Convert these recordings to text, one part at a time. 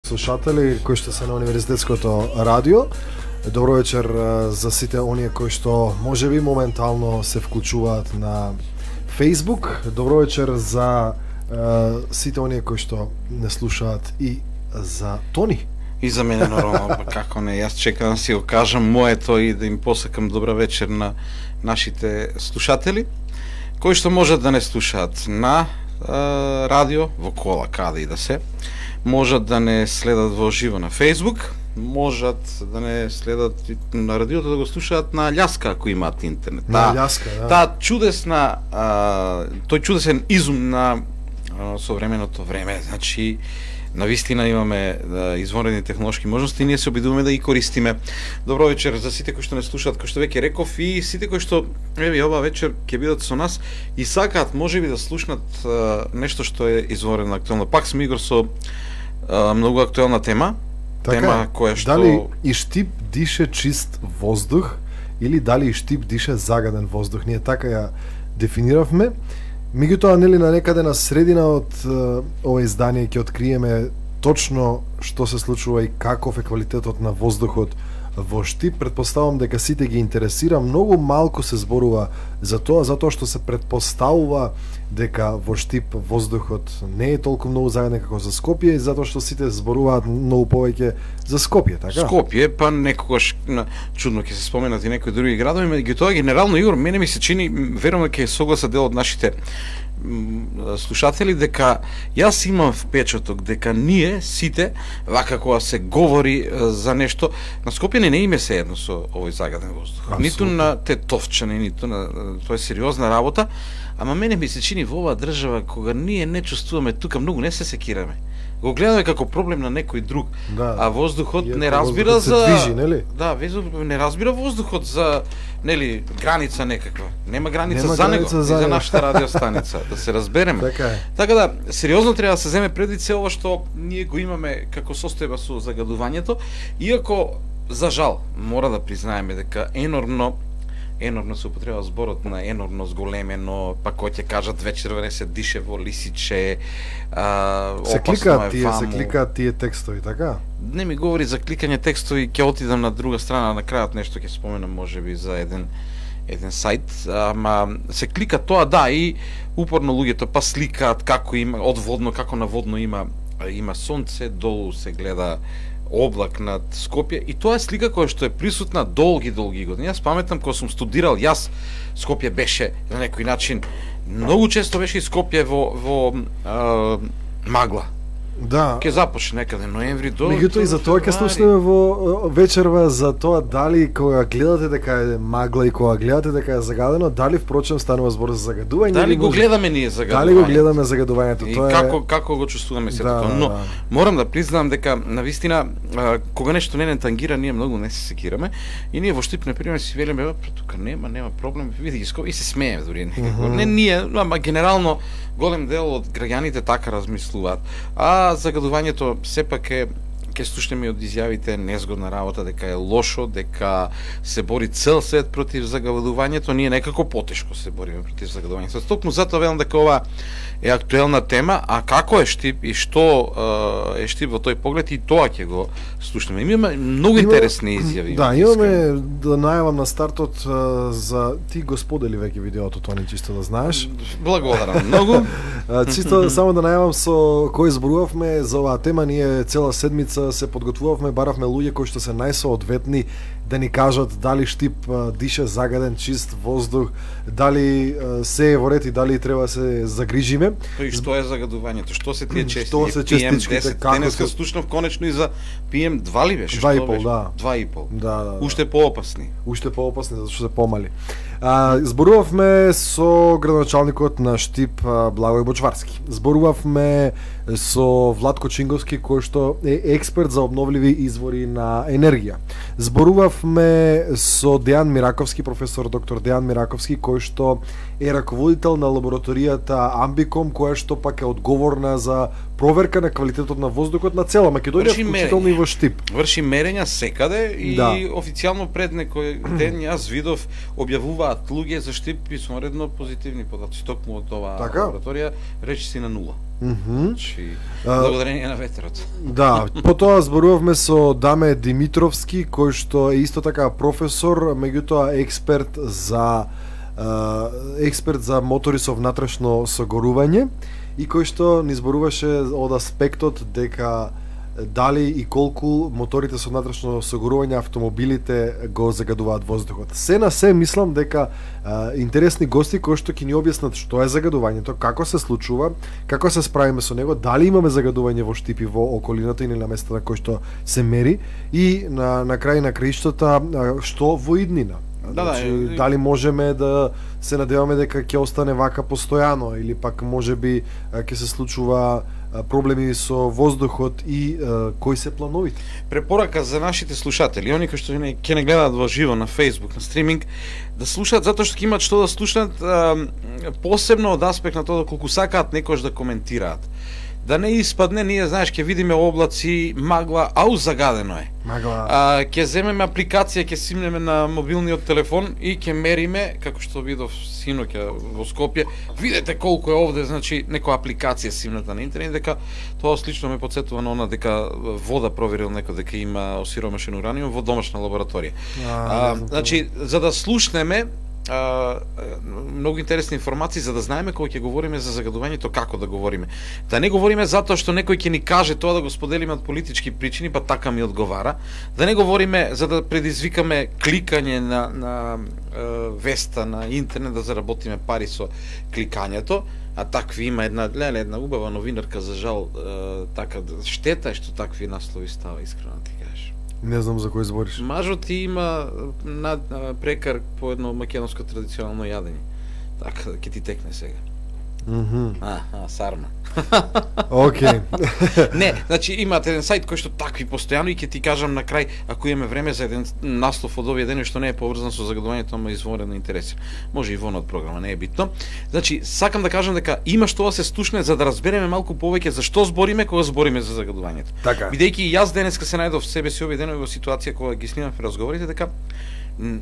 Слушатели кои што се на Универзитетското радио, добро вечер за сите оние кои што можеби моментално се вклучуваат на Facebook. Добро вечер за сите оние кои што не слушаат и за Тони. И за мене нормално, како не, јас чекам да си го кажам моето и да им посакам добра вечер на нашите слушатели, кои што можат да не слушаат на радио, во кола, каде и да се, можат да не следат во живо на Facebook, можат да не следат на радиото, да го слушаат на љаска ако имаат интернет. На љаска, да. Таа чудесна, тој чудесен изум на современото време, значи навистина имаме извонредни технолошки можности и ние се обидуваме да ги користиме. Добро вечер за сите кои што не слушаат, кои што веќе реков, и сите кои што еве ова вечер ќе бидат со нас и сакаат можеби да слушнат нешто што е извонредно актуелно. Пак сме Игор со многу актуелна тема. Така, тема која што дали и Штип дише чист воздух или дали и Штип дише загаден воздух? Ние така ја дефиниравме. Меѓутоа, нели, на некаде на средина од ова издание ќе откриеме точно што се случува и каков е квалитетот на воздухот во Штип. Предпоставам дека сите ги интересира. Многу малку се зборува за тоа, затоа што се предпоставува дека во Штип воздухот не е толку многу загаден како за Скопје, и затоа што сите зборуваат многу повеќе за Скопје, така? Скопје, па некогаш чудно ќе се споменат и некои други градови, меѓутоа генерално, Игор, мене ми се чини, верувам ќе согласа дел од нашите слушатели, дека јас имам впечаток дека ние сите, вака кога се говори за нешто, на Скопје не име се едно со овој загаден воздух. Абсолютно. Ниту на Тетовчани, ниту на тоа е сериозна работа, ама мене ми се чини во оваа држава кога ние не чувствуваме тука, многу не се секираме. Го гледаме како проблем на некој друг, да, а воздухот не разбира за движи, нели? Да, не разбира воздухот за, нели, граница некаква. Нема граница Нема за граница него, за за него. нашата радиостаница, да се разбереме. Така е. Така да, сериозно треба да се земе предвид се ова што ние го имаме како состојба со загадувањето, иако за жал мора да признаеме дека енормно се употреба зборот на енормно зголемено, па кој ќе кажат вечерва не се дише во лисиче, се опасно кликаат тие текстови, така? Не ми говори за кликање текстови, ќе отидам на друга страна, на крајот нешто ќе споменам можеби за еден сајт, ама се клика тоа, да, и упорно луѓето па сликаат како има одводно, како наводно има сонце, долу се гледа облак над Скопје, и тоа е слика која што е присутна долги години. Јас паметам кога сум студирал, Скопје беше на некој начин, многу често беше и Скопје во магла. Да. Ке започне некаде ноември до. Меѓутоа и за тоа ќе слушнеме во вечерва за тоа дали кога гледате дека е магла и кога гледате дека е загадено, дали впрочем станува збор за загадување. Дали го гледаме ние загадувањето? Дали го гледаме загадувањето? И тоа како го чувствуваме сето да, тоа. Но да. морам да признам дека навистина кога нешто не тангира, ние многу не се секираме, и ние во Штип на пример си велиме, тука нема проблем, види ги Скопје, и се смееме дури некако. Не ние, ама генерално голем дел од граѓаните така размислуваат. А загадувањето сепак е, ќе слушнеме од изјавите, незгодна работа, дека е лошо, дека се бори цел свет против загадувањето, ние некако потешко се бориме против загадувањето. Токму затоа велам дека ова е актуелна тема, а како е Штип и што е Штип во тој поглед, и тоа ќе го слушнеме. Имаме многу интересни изјави. Да, имаме да најавам на стартот за ти го сподели веќе видеото, Тони, чисто да знаеш. Благодарам многу. Чисто само да најавам со кој зборувавме за оваа тема. Ние цела седмица се подготвувавме, баравме луѓе кои што се најсоодветни да ни кажат дали Штип дише загаден чист воздух, дали се е во ред и дали треба да се загрижиме. И што е загадувањето? Што се тие частички? Што се частичките? Денеска слушнав конечно и за PM2 ли беше? 2,5, да. 2,5. Да. Уште поопасни. Уште поопасни, затоа што се помали. Зборувавме со градоначалникот на Штип Благој Бочварски. Зборувавме со Владко Чинговски, кој што е експерт за обновливи извори на енергија. Зборувавме со Дејан Мираковски, професор доктор Дејан Мираковски, кој што е раководител на лабораторијата Амбиком, која што пак е одговорна за проверка на квалитетот на воздухот на цела Македонија, вклучително и во Штип. Врши мерења секаде и официјално пред некој ден јас видов објавуваат луѓе за Штип и соредно позитивни податоци токму од оваа лабораторија, речиси на нула. Значи, благодарение на ветерот. Да, потоа зборувавме со Даме Димитровски, кој што е исто така професор, меѓутоа експерт за мотори со внатрешно согорување и кој што ни зборуваше од аспектот дека дали и колку моторите со внатрешно согорување автомобилите го загадуваат воздухот. Се на се мислам дека интересни гости кои што ќе ни објаснат што е загадувањето, како се случува, како се справиме со него, дали имаме загадување во Штип и во околината или на места на кои што се мери и на крај на краиштата што во иднина. Значи, дали можеме да се надеваме дека ќе остане вака постојано или пак можеби ќе се случува проблеми со воздухот и кои се плановите? Препорака за нашите слушатели, они кои што ќе не гледаат во живо на Facebook, на стриминг, да слушаат затоа што ќе имаат што да слушаат, посебно од аспект на тоа колку сакаат некош да коментираат. Да не испадне, ние знаеш ќе видиме облаци, магла, ау загадено е. Магла. Ќе земеме апликација, ќе симнеме на мобилниот телефон и ќе мериме, како што видов синоќа во Скопје, видете колку е овде, значи некоја апликација симната на интернет, дека тоа слично ме потсетува на она дека вода проверил некој дека има осиромашен ураниум во домашна лабораторија. Значи, за да слушнеме многу интересни информации за да знаеме кога ќе говориме за загадувањето како да говориме. Да не говориме затоа што некој ќе ни каже тоа да го споделиме од политички причини, па така ми одговара. Да не говориме за да предизвикаме кликање на веста на интернет да заработиме пари со кликањето, а такви има една убава новинарка за жал, така штета е што такви наслови става, искрено ти кажеш. Не знам за кој збориш. Мажот има прекар по едно македонско традиционално јадење. Така, ќе ти текне сега. Сарма. Океј. Не, значи имаат еден сајт кој што такви постојано и ќе ти кажам на крај, ако имаме време за еден наслов од овие дени што не е поврзан со загадувањето, ама изворено интереси. Може и вон од програма, не е битно. Значи, сакам да кажам дека има што да се слушне за да разбереме малку повеќе за што збориме кога збориме за загадувањето. Така. Бидејќи јас денеска се најдов себе си овие денови во ситуација кога ги снимавме разговорите, дека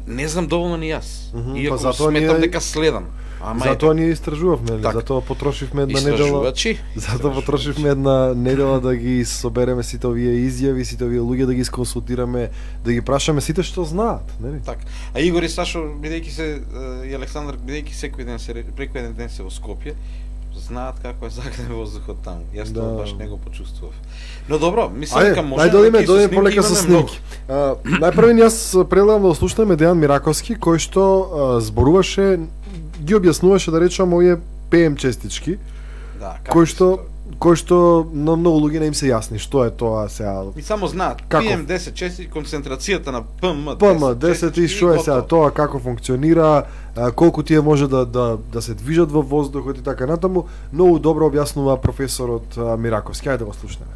не знам доволно ни јас. Иако сметам дека следам. Затоа ние истражувавме, затоа потрошивме една недела. Затоа потрошивме една недела да ги собереме сите овие изјави, сите овие луѓе да ги исконсултираме, да ги прашаме сите што знаат, нели? Така. А Игор и Сашо, бидејќи се и Александар, бидејќи секој ден се преку еден ден се во Скопје, знаат како е загаден воздухот таму. Јас тоа баш не го почувствував. Но добро, мислам дека може да дојдеме полека со снимки. Најпрви јас предлагам да слушнеме Дејан Мираковски кој што зборуваше, ги објаснуваше да речам овие ПМ честички. Да, кој што на многу луѓе не им се јасни што е тоа сега. И само знаат PM10 честички, концентрацијата на PM10 и што е сега тоа, како функционира, колку тие може да се движат во воздухот и така натаму. Многу добро објаснува професорот Мираковски. Хајде да го слушнеме.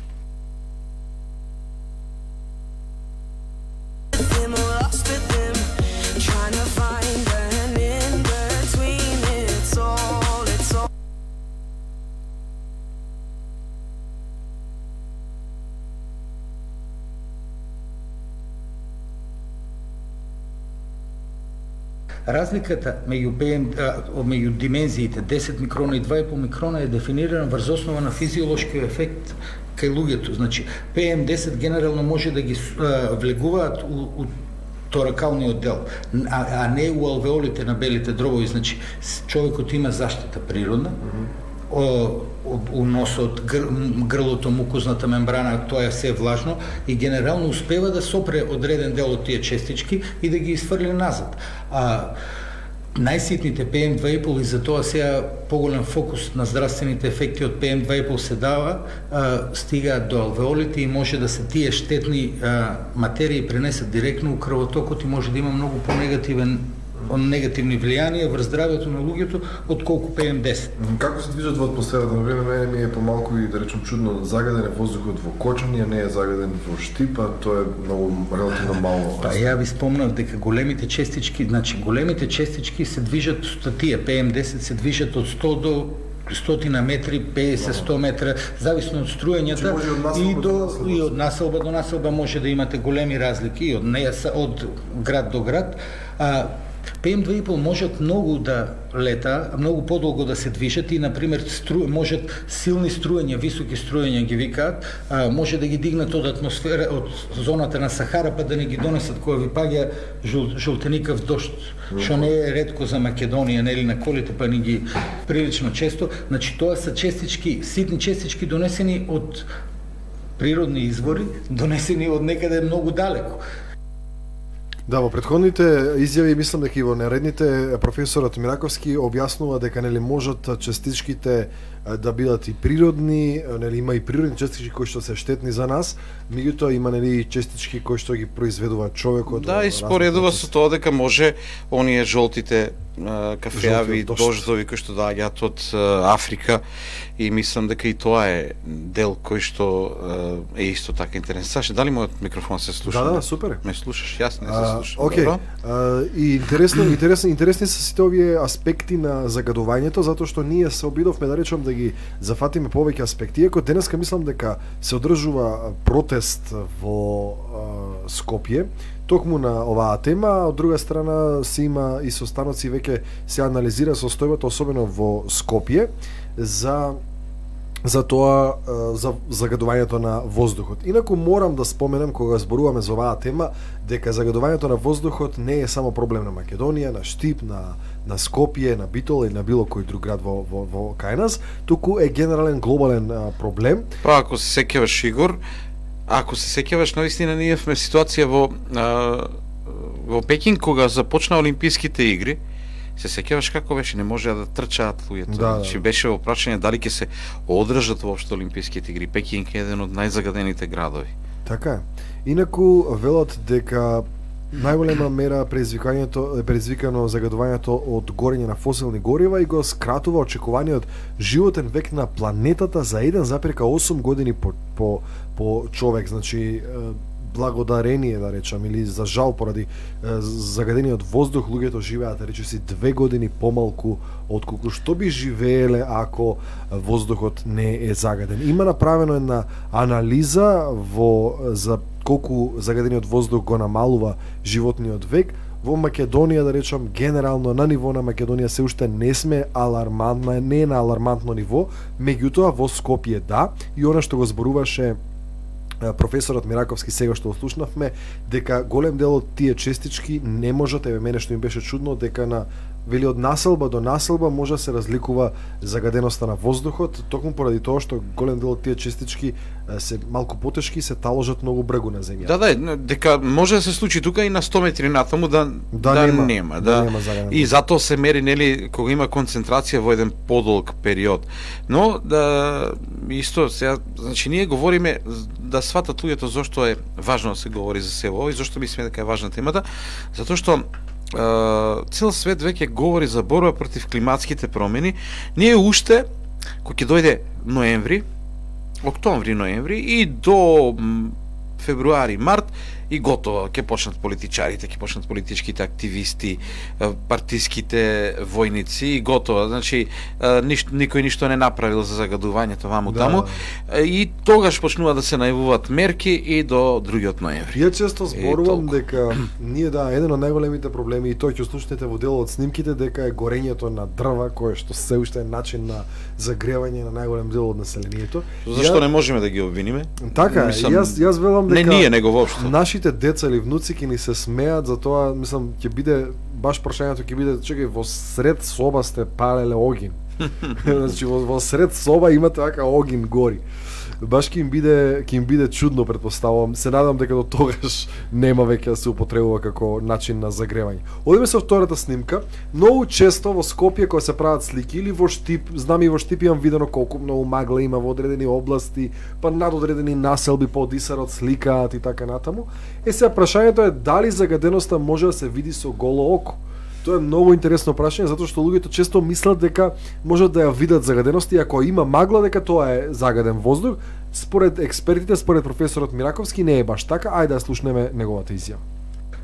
Разликата меѓу димензиите 10 микрона и 2,5 микрона е дефинирана врз основа на физиолошкиот ефект кај луѓето. Значи, PM10 генерално може да ги влегуваат у торакалниот дел, а не у алвеолите на белите дробови. Значи, човекот има заштита природна, у носот, грлото, мукозната мембрана, тоа е се влажно и генерално успева да сопре одреден дел од тие честички и да ги изфрли назад. Најситните PM2,5 и за тоа сега поголем фокус на здравствените ефекти од PM2,5 се дава, стигаат до алвеолите и може да се тие штетни материи пренесат директно у крвотокот и може да има многу негативни влијанија врз здравјето на луѓето отколку PM10. Како се движат во атмосферата? Например, мене ми е помалку и да речем чудно загаден е воздухот во Кочани, а не е загаден во Штип, а тоа е многу релативно мало. Па ја ви спомнав дека големите честички, значи големите честички се движат, тие PM10 се движат од 100 до стотина метри, 50-100 метра, зависно од струењата и од населба до населба може да имате големи разлики од град до град. PM2,5 можат многу да лета, многу подолго да се движат и, например, можат силни струења, високи струења ги викаат, може да ги дигнат од атмосфера, од зоната на Сахара, па да не ги донесат кога ви паѓа жолтеникав дожд, што не е ретко за Македонија, нели на колите, па ни ги прилично често. Значи, тоа се честички, ситни честички донесени од природни извори, донесени од некаде многу далеко. Да, во претходните изјави мислам дека и во наредните професорот Мираковски објаснува дека нели можат частичките да бидат и природни, нели има и природни частички кои што се штетни за нас, меѓутоа има нели частички кои што ги произведува човекот. Да, и споредува со тоа дека може оние жолтите кафеави дождови кои што доаѓаат од Африка, и мислам дека и тоа е дел кој што е исто така интересен. Саше, дали мојот микрофон се слуша? Да, супер. Ме слушаш? Јас не се слушам. Окей. И интересни се сите овие аспекти на загадувањето, затоа што ние се обидовме да речем да ги зафатиме повеќе аспекти. Иако денеска мислам дека се одржува протест во Скопје токму на оваа тема, од друга страна се има и состаноци, веќе се анализира состојбата, особено во Скопје, за тоа, за загадувањето на воздухот. Инаку морам да споменам, кога зборуваме за оваа тема, дека загадувањето на воздухот не е само проблем на Македонија, на Штип, на Скопје, на Битола или на било кој друг град во кај нас, туку е генерален глобален проблем. Па ако се сеќаваш, Игор, ако се сеќаваш, навистина ние сме ситуација во Пекин кога започна Олимписките игри. Се сеќаваш како беше, не можеа да трчаат луѓето. Значи беше во прашање дали ќе се одржат воопшто Олимписките игри. Пекин е еден од најзагадените градови. Така е. Инаку велат дека најголема мера предизвикано загадувањето од горење на фосилни горива и го скратува очекуваниот животен век на планетата за 1,8 години по човек. Значи благодарение, да речам, или за жал поради загадениот воздух, луѓето живеат, речиси, 2 години помалку отколку што би живееле ако воздухот не е загаден. Има направено една анализа за колку загадениот воздух го намалува животниот век. Во Македонија, да речам, генерално на ниво на Македонија се уште не сме алармантна, не е на алармантно ниво, меѓутоа во Скопје да, и она што го зборуваше професорот Мираковски сега што слушнавме, дека голем дел од тие честички не можат, мене што им беше чудно, дека вели од населба до населба може да се разликува загаденоста на воздухот, токму поради тоа што голем дел од тие честички се малку потешки и се таложат многу бргу на земјата. Да, дека може да се случи тука и на 100 метри натаму да нема. И затоа се мери, нели, кога има концентрација во еден подолг период. Но исто сега, значи ние говориме да сватат луѓето зошто е важно да се говори за се ово и зошто мислиме дека е важна темата, затоа што цел свет веќе говори за борба против климатските промени. Ние уште, кога ќе дојде октомври-ноември и до февруари, март, и готово, ќе почнат политичарите, ќе почнат политичките активисти, партиските војници и готово. Значи, никој ништо не направил за загадувањето ваму таму. И тогаш почнува да се најавуваат мерки и до другиот ноември. Ја често зборувам дека ние еден од најголемите проблеми, и тој ќе слушнете во дел од снимките, дека е горењето на дрва, кое што се уште е начин на загревање на најголем дел од населението. Зашто не можеме да ги обвиниме? Така, јас велам дека не ние, него воопшто. Нашите деца или внуци ќе ни се смеат, затоа мислам ќе биде баш прашањето ќе биде, чекај, во сред соба сте палеле огин. Значи во сред соба имате вака огин гори. Баш ќе им биде чудно, претпоставувам. Се надам дека до тогаш нема веќе да се употребува како начин на загревање. Одиме со втората снимка. Многу често во Скопје кога се прават слики или во Штип, знам и во Штип имам видено колку многу магла има во одредени области, па над одредени населби по Одисарот сликаат и така натаму. Сега прашањето е дали загаденоста може да се види со голо око. Тоа е многу интересно прашање, затоа што луѓето често мислат дека можат да ја видат загаденост и ако има магла дека тоа е загаден воздух. Според експертите, според професорот Мираковски не е баш така. Ајде да слушнеме неговата изјава.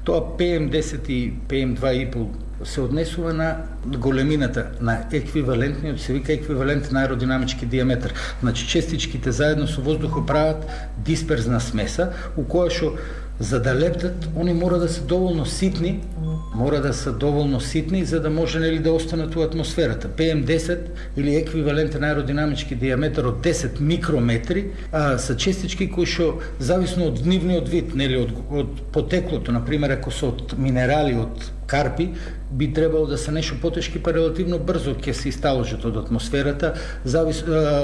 Тоа PM10 и PM2,5 се однесува на големината, на еквивалентниот, се вика еквивалентен аеродинамички диаметар. Значи честичките заедно со воздухот прават дисперзна смеса, у која што за да лептат, они мора да се доволно ситни, за да може нели да останат у атмосферата. PM10 или еквивалентен аеродинамички диаметар од 10 микрометри се честички кои што зависно од нивниот вид, нели од потеклото, на пример ако се од минерали, од карпи, би требало да се нешто потешки, па релативно брзо ќе се исталожат од атмосферата.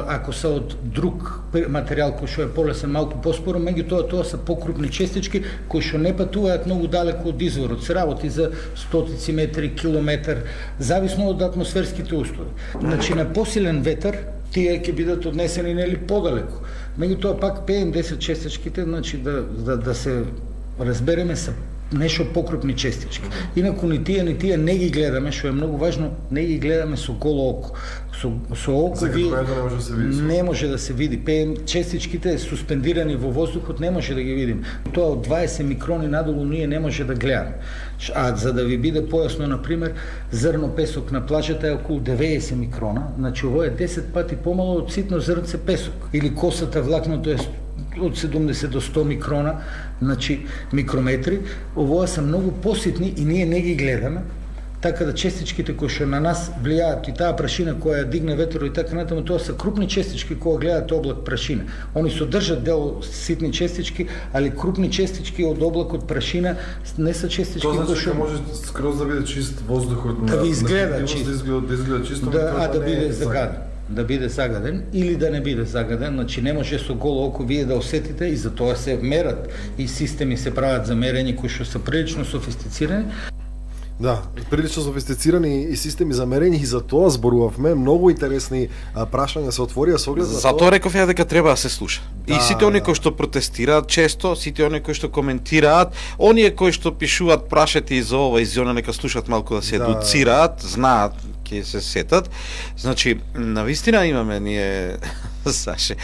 Ако се од друг материјал кој што е полесен, малку поспоро, меѓутоа тоа се покрупни честички кои што не патуваат многу далеко од изворот. Се работи за стотици метри, километар, зависно од атмосферските услови. Значи на посилен ветар тие ќе бидат однесени нели подалеку. Меѓутоа пак PM10 честичките, значи да се разбереме, се нешто покрупни честички. Инаку ни тие не ги гледаме, што е многу важно, не ги гледаме со голо око. Со око не може да се види. ПМ честичките суспендирани во воздухот не може да ги видим. Тоа од 20 микрони надолу ние не може да гледаме. А за да ви биде појасно, на пример, зрно песок на плажата е околу 90 микрона, значи ово е 10 пати помало од ситно зрнце песок. Или косата влакното е од 70 до 100 микрона, значи микрометри. Овоа се многу поситни и ние не ги гледаме, така да честичките кои што на нас влијаат и таа прашина која ја дигне ветерот и така натаму, тоа се крупни честички кога гледат облак прашина. Они содржат дел ситни честички, али крупни честички од облакот прашина не се честички кои што може скроз да биде чист воздухот, да ви изгледа чист, да изгледа чисто, да биде загаден. Да биде загаден или да не биде загаден, значи не може со голо око вие да осетите, и затоа се мерат и системи се прават за мерење кои што се прилично софистицирани. Да, прилично софистицирани и системи за мерење, и за тоа зборувавме. Многу интересни прашања се отворија со оглед на тоа. Затоа реков ја дека треба да се слуша. Да, и сите оние кои што протестираат често, сите оние кои што коментираат, оние кои што пишуваат прашајте и за ова и за она, нека слушаат малку да се едуцираат, знаат, ќе се сетат. Значи, навистина имаме ние Саше.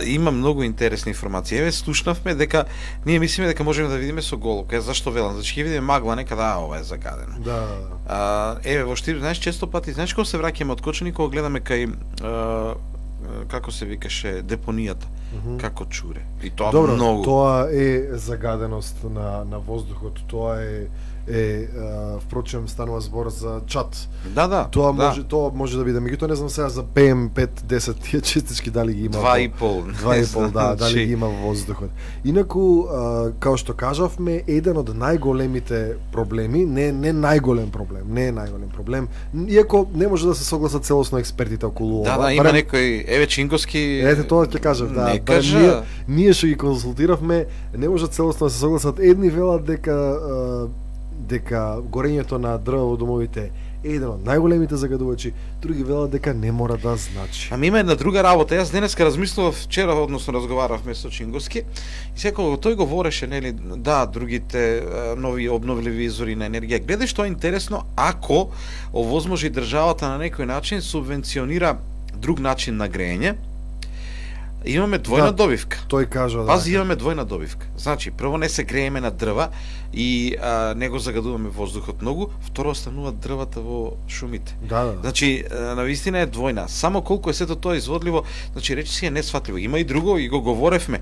Има многу интересни информации. Еве слушнавме дека ние мислиме дека можеме да видиме со голо. Зашто велам? Значи ќе видиме магла некада, ова е загадено. Да. Еве во Штип, знаеш, често пати, знаеш кога се враќаме од Кочани, кога гледаме кај како се викаше депонијата, како чуре. И тоа добро, многу. Тоа е загаденост на воздухот, тоа е впрочем станува збор за чат. Да. Тоа може да биде. Меѓутоа не знам сега за PM5-10 тие честички дали ги има. 2,5, да, дали ги има во воздухот. Инаку, као што кажавме, еден од најголемите проблеми, не најголем проблем, иако не може да се согласат целосно експертите околу ова. Да, има некој, еве Чинговски. Ете тоа ќе кажав, да. Ние што ги консултиравме, не може целосно да се согласат. Едни велат дека горењето на дрва во домовите е еден од најголемите загадувачи, други велат дека не мора да значи. Ами има една друга работа. Јас денеска размислував, вчера односно разговаравме со Чинговски, и секој тој говореше, нели, да, другите нови обновливи извори на енергија. Гледај што е интересно, ако овозможи државата на некој начин субвенционира друг начин на грејење, имаме двојна добивка. Тој кажа, Пази, имаме двојна добивка. Значи, прво не се грееме на дрва и не го загадуваме воздухот многу, второ остануваат дрвата во шумите. Да. Значи, навистина е двојна. Само колку е сето тоа изводливо, значи речи си е несфатливо. Има и друго, и го говоревме.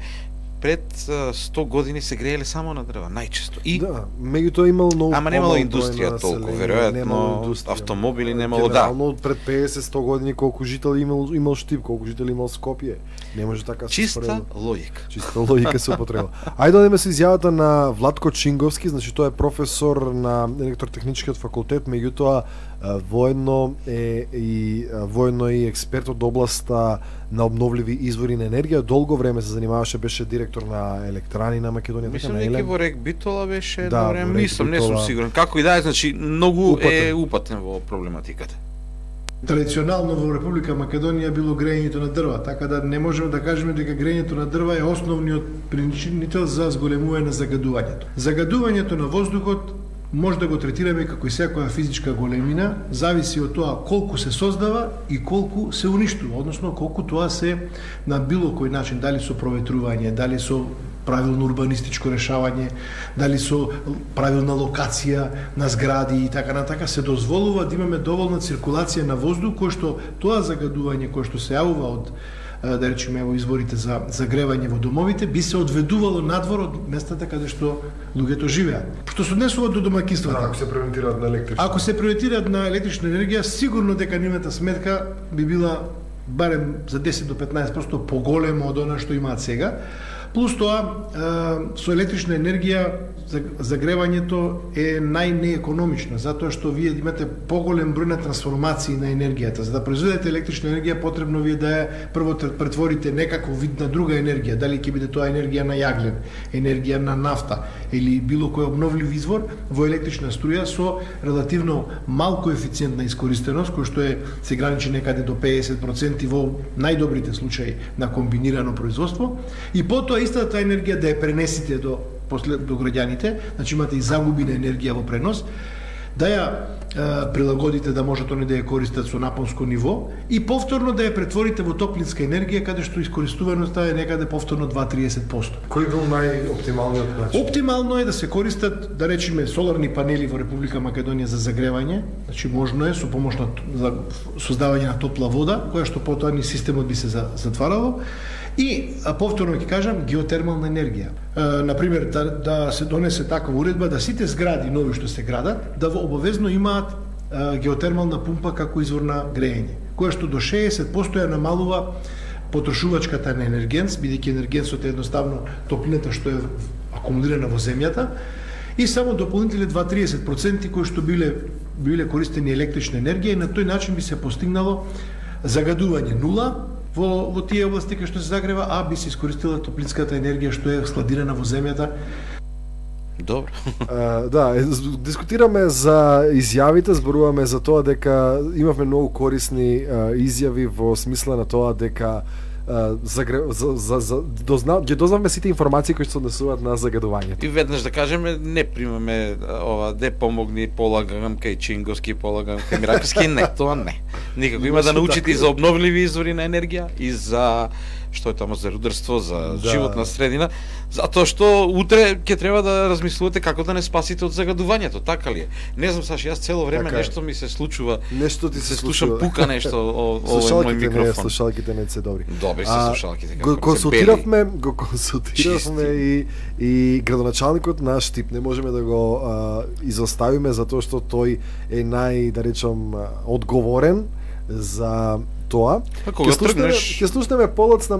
Пред 100 години се грееле само на дрва, најчесто. И да, меѓутоа имало многу. Ама немало индустрија толку, веројатно, автомобили немало, да. Генерално пред 50-100 години колку жители имал Штип, колку жители имал Скопје. Не може така се чиста логика. Чиста логика се употреба. Ајде да одиме со изјавата на Владко Чинговски, значи тоа е професор на електротехничкиот факултет, меѓутоа воедно и експерт од областа на обновливи извори на енергија. Долго време се занимаваше, беше директор на електрани на Македонија. Мислам дека во Рек Битола беше едно време, не сум сигурен. Како и да е, значи многу е упатен во проблематиката. Традиционално во Република Македонија било грејењето на дрва, така да не можеме да кажеме дека грејењето на дрва е основниот причинител за зголемување на загадувањето. Загадувањето на воздухот може да го третираме како и секоја физичка големина, зависи од тоа колку се создава и колку се уништува, односно колку тоа се на било кој начин, дали со проветрување, дали со правилно урбанистичко решавање, дали со правилна локација на згради и така натака, се дозволува да имаме доволна циркулација на воздух, кој што тоа загадување кој што се јавува од да речеме во изворите за загревање во домовите би се одведувало надвор од местата каде што луѓето живеат. Што се однесува до домаќинствата. Ако се преориентираат на електрична. Ако се преориентираат на електрична енергија, сигурно дека нивната сметка би била барем за 10 до 15% поголема од она што имаат сега. Плюс тоа, со електрична енергија загревањето е најнеекономично, затоа што вие имате поголем број на трансформации на енергијата. За да произведете електрична енергија, потребно вие да ја прво претворите некаков вид на друга енергија, дали ќе биде тоа енергија на јаглен, енергија на нафта или било кој обновлив извор во електрична струја со релативно мал коефициент на искористеност, кој што се граничи некаде до 50% во најдобрите случаи на комбинирано производство, и потоа истата енергија да ја пренесите до граѓаните, значи имате и загуби на енергија во пренос, да ја прилагодите да можат они да ја користат со напонско ниво и повторно да ја претворите во топлинска енергија, каде што искористуваноста е некаде повторно 2-30%. Кој бил најоптималниот начин? Оптимално е да се користат, да речеме, соларни панели во Република Македонија за загревање, значи можно е со помош на создавање на топла вода, која што потоа ни системот би се затварало. И повторно ќе кажам, геотермална енергија. Например, да се донесе таква уредба да сите згради нови што се градат, да обавезно имаат геотермална пумпа како извор на грејење, која што до 60% ја намалува потрошувачката на енергенс, бидејќи енергенсот е едноставно топлината што е акумулирана во земјата, и само дополнителни 2-30% кои што биле користени електрична енергија, и на тој начин би се постигнало загадување нула во тие области кај што се загрева, а би се искористила топлинската енергија што е складирана во земјата. Добро. Да, дискутираме за изјавите, зборуваме за тоа дека имавме многу корисни изјави во смисла на тоа дека ги дознавме сите информации кои се однесуваат на загадувањето. И веднаш да кажеме, не примаме ова, де помогни, полагам кај Чинговски, полагам кај Мираковски, не, тоа не. Никако има да научите и за обновливи извори на енергија, и за што е тамо за рударство, за животна средина, затоа што утре ќе треба да размислувате како да не спасите од загадувањето, така ли е? Не знам, Саши, јас цело време нешто ми се случува. Нешто ти се слушам пука нешто овој мој микрофон. Слушалките не се добри. Добри се слушалките. Го консултиравме и градоначалникот на Штип, не можеме да го изоставиме затоа што тој е да речам одговорен за тоа. Ќе слушнеме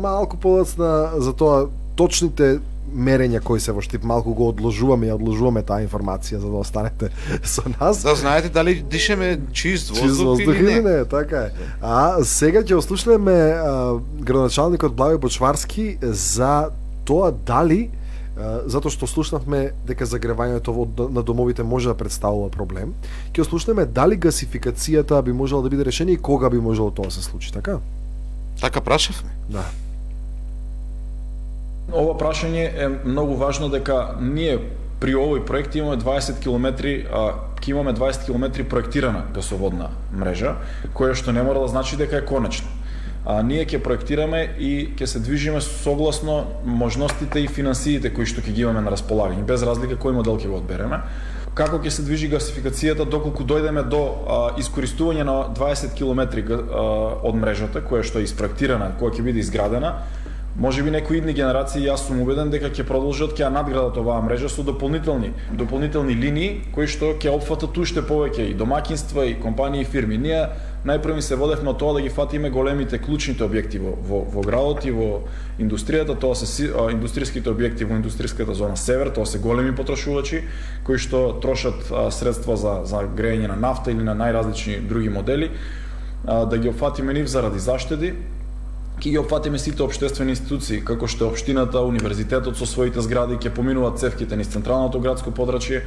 малку полоцна за тоа точните мерења кои се во Штип, малку го одложуваме таа информација за да останете со нас. Да знаете дали дишеме чист воздух или не. Така е. А сега ќе ослушнеме градоначалникот Благој Бочварски за тоа дали, затоа што слушнавме дека загревањето на домовите може да представува проблем, ќе ослушнеме дали гасификацијата би можела да биде решение и кога би можело тоа да се случи, така? Така прашавме? Да. Ова прашање е многу важно, дека ние при овој проект имаме 20 километри, ќе имаме 20 километри проектирана гасоводна мрежа, која што не мора да значи дека е конечно. Ние ќе проектираме и ќе се движиме согласно можностите и финансиите кои што ќе ги имаме на располагање, без разлика кој модел ќе го одбереме. Како ќе се движи гасификацијата доколку дојдеме до искористување на 20 километри од мрежата, која што е испроектирана, која ќе биде изградена, може би некои идни генерации, јас сум убеден дека ќе продолжат, ќе ја надградат оваа мрежа со дополнителни линии кои што ќе опфатат уште повеќе и домаќинства, и компании, и фирми. Ние најпрви се водевме од тоа да ги фатиме големите клучните објекти во градот и во индустријата, тоа се индустријските објекти во индустријската зона Север, тоа се големи потрошувачи кои што трошат средства за грејење на нафта или на најразлични други модели, да ги опфатиме нив заради заштеди. Ќе ги опфатиме сите општествени институции, како што е општината, универзитетот со своите згради, ќе поминуваат цевките низ централното градско подрачје,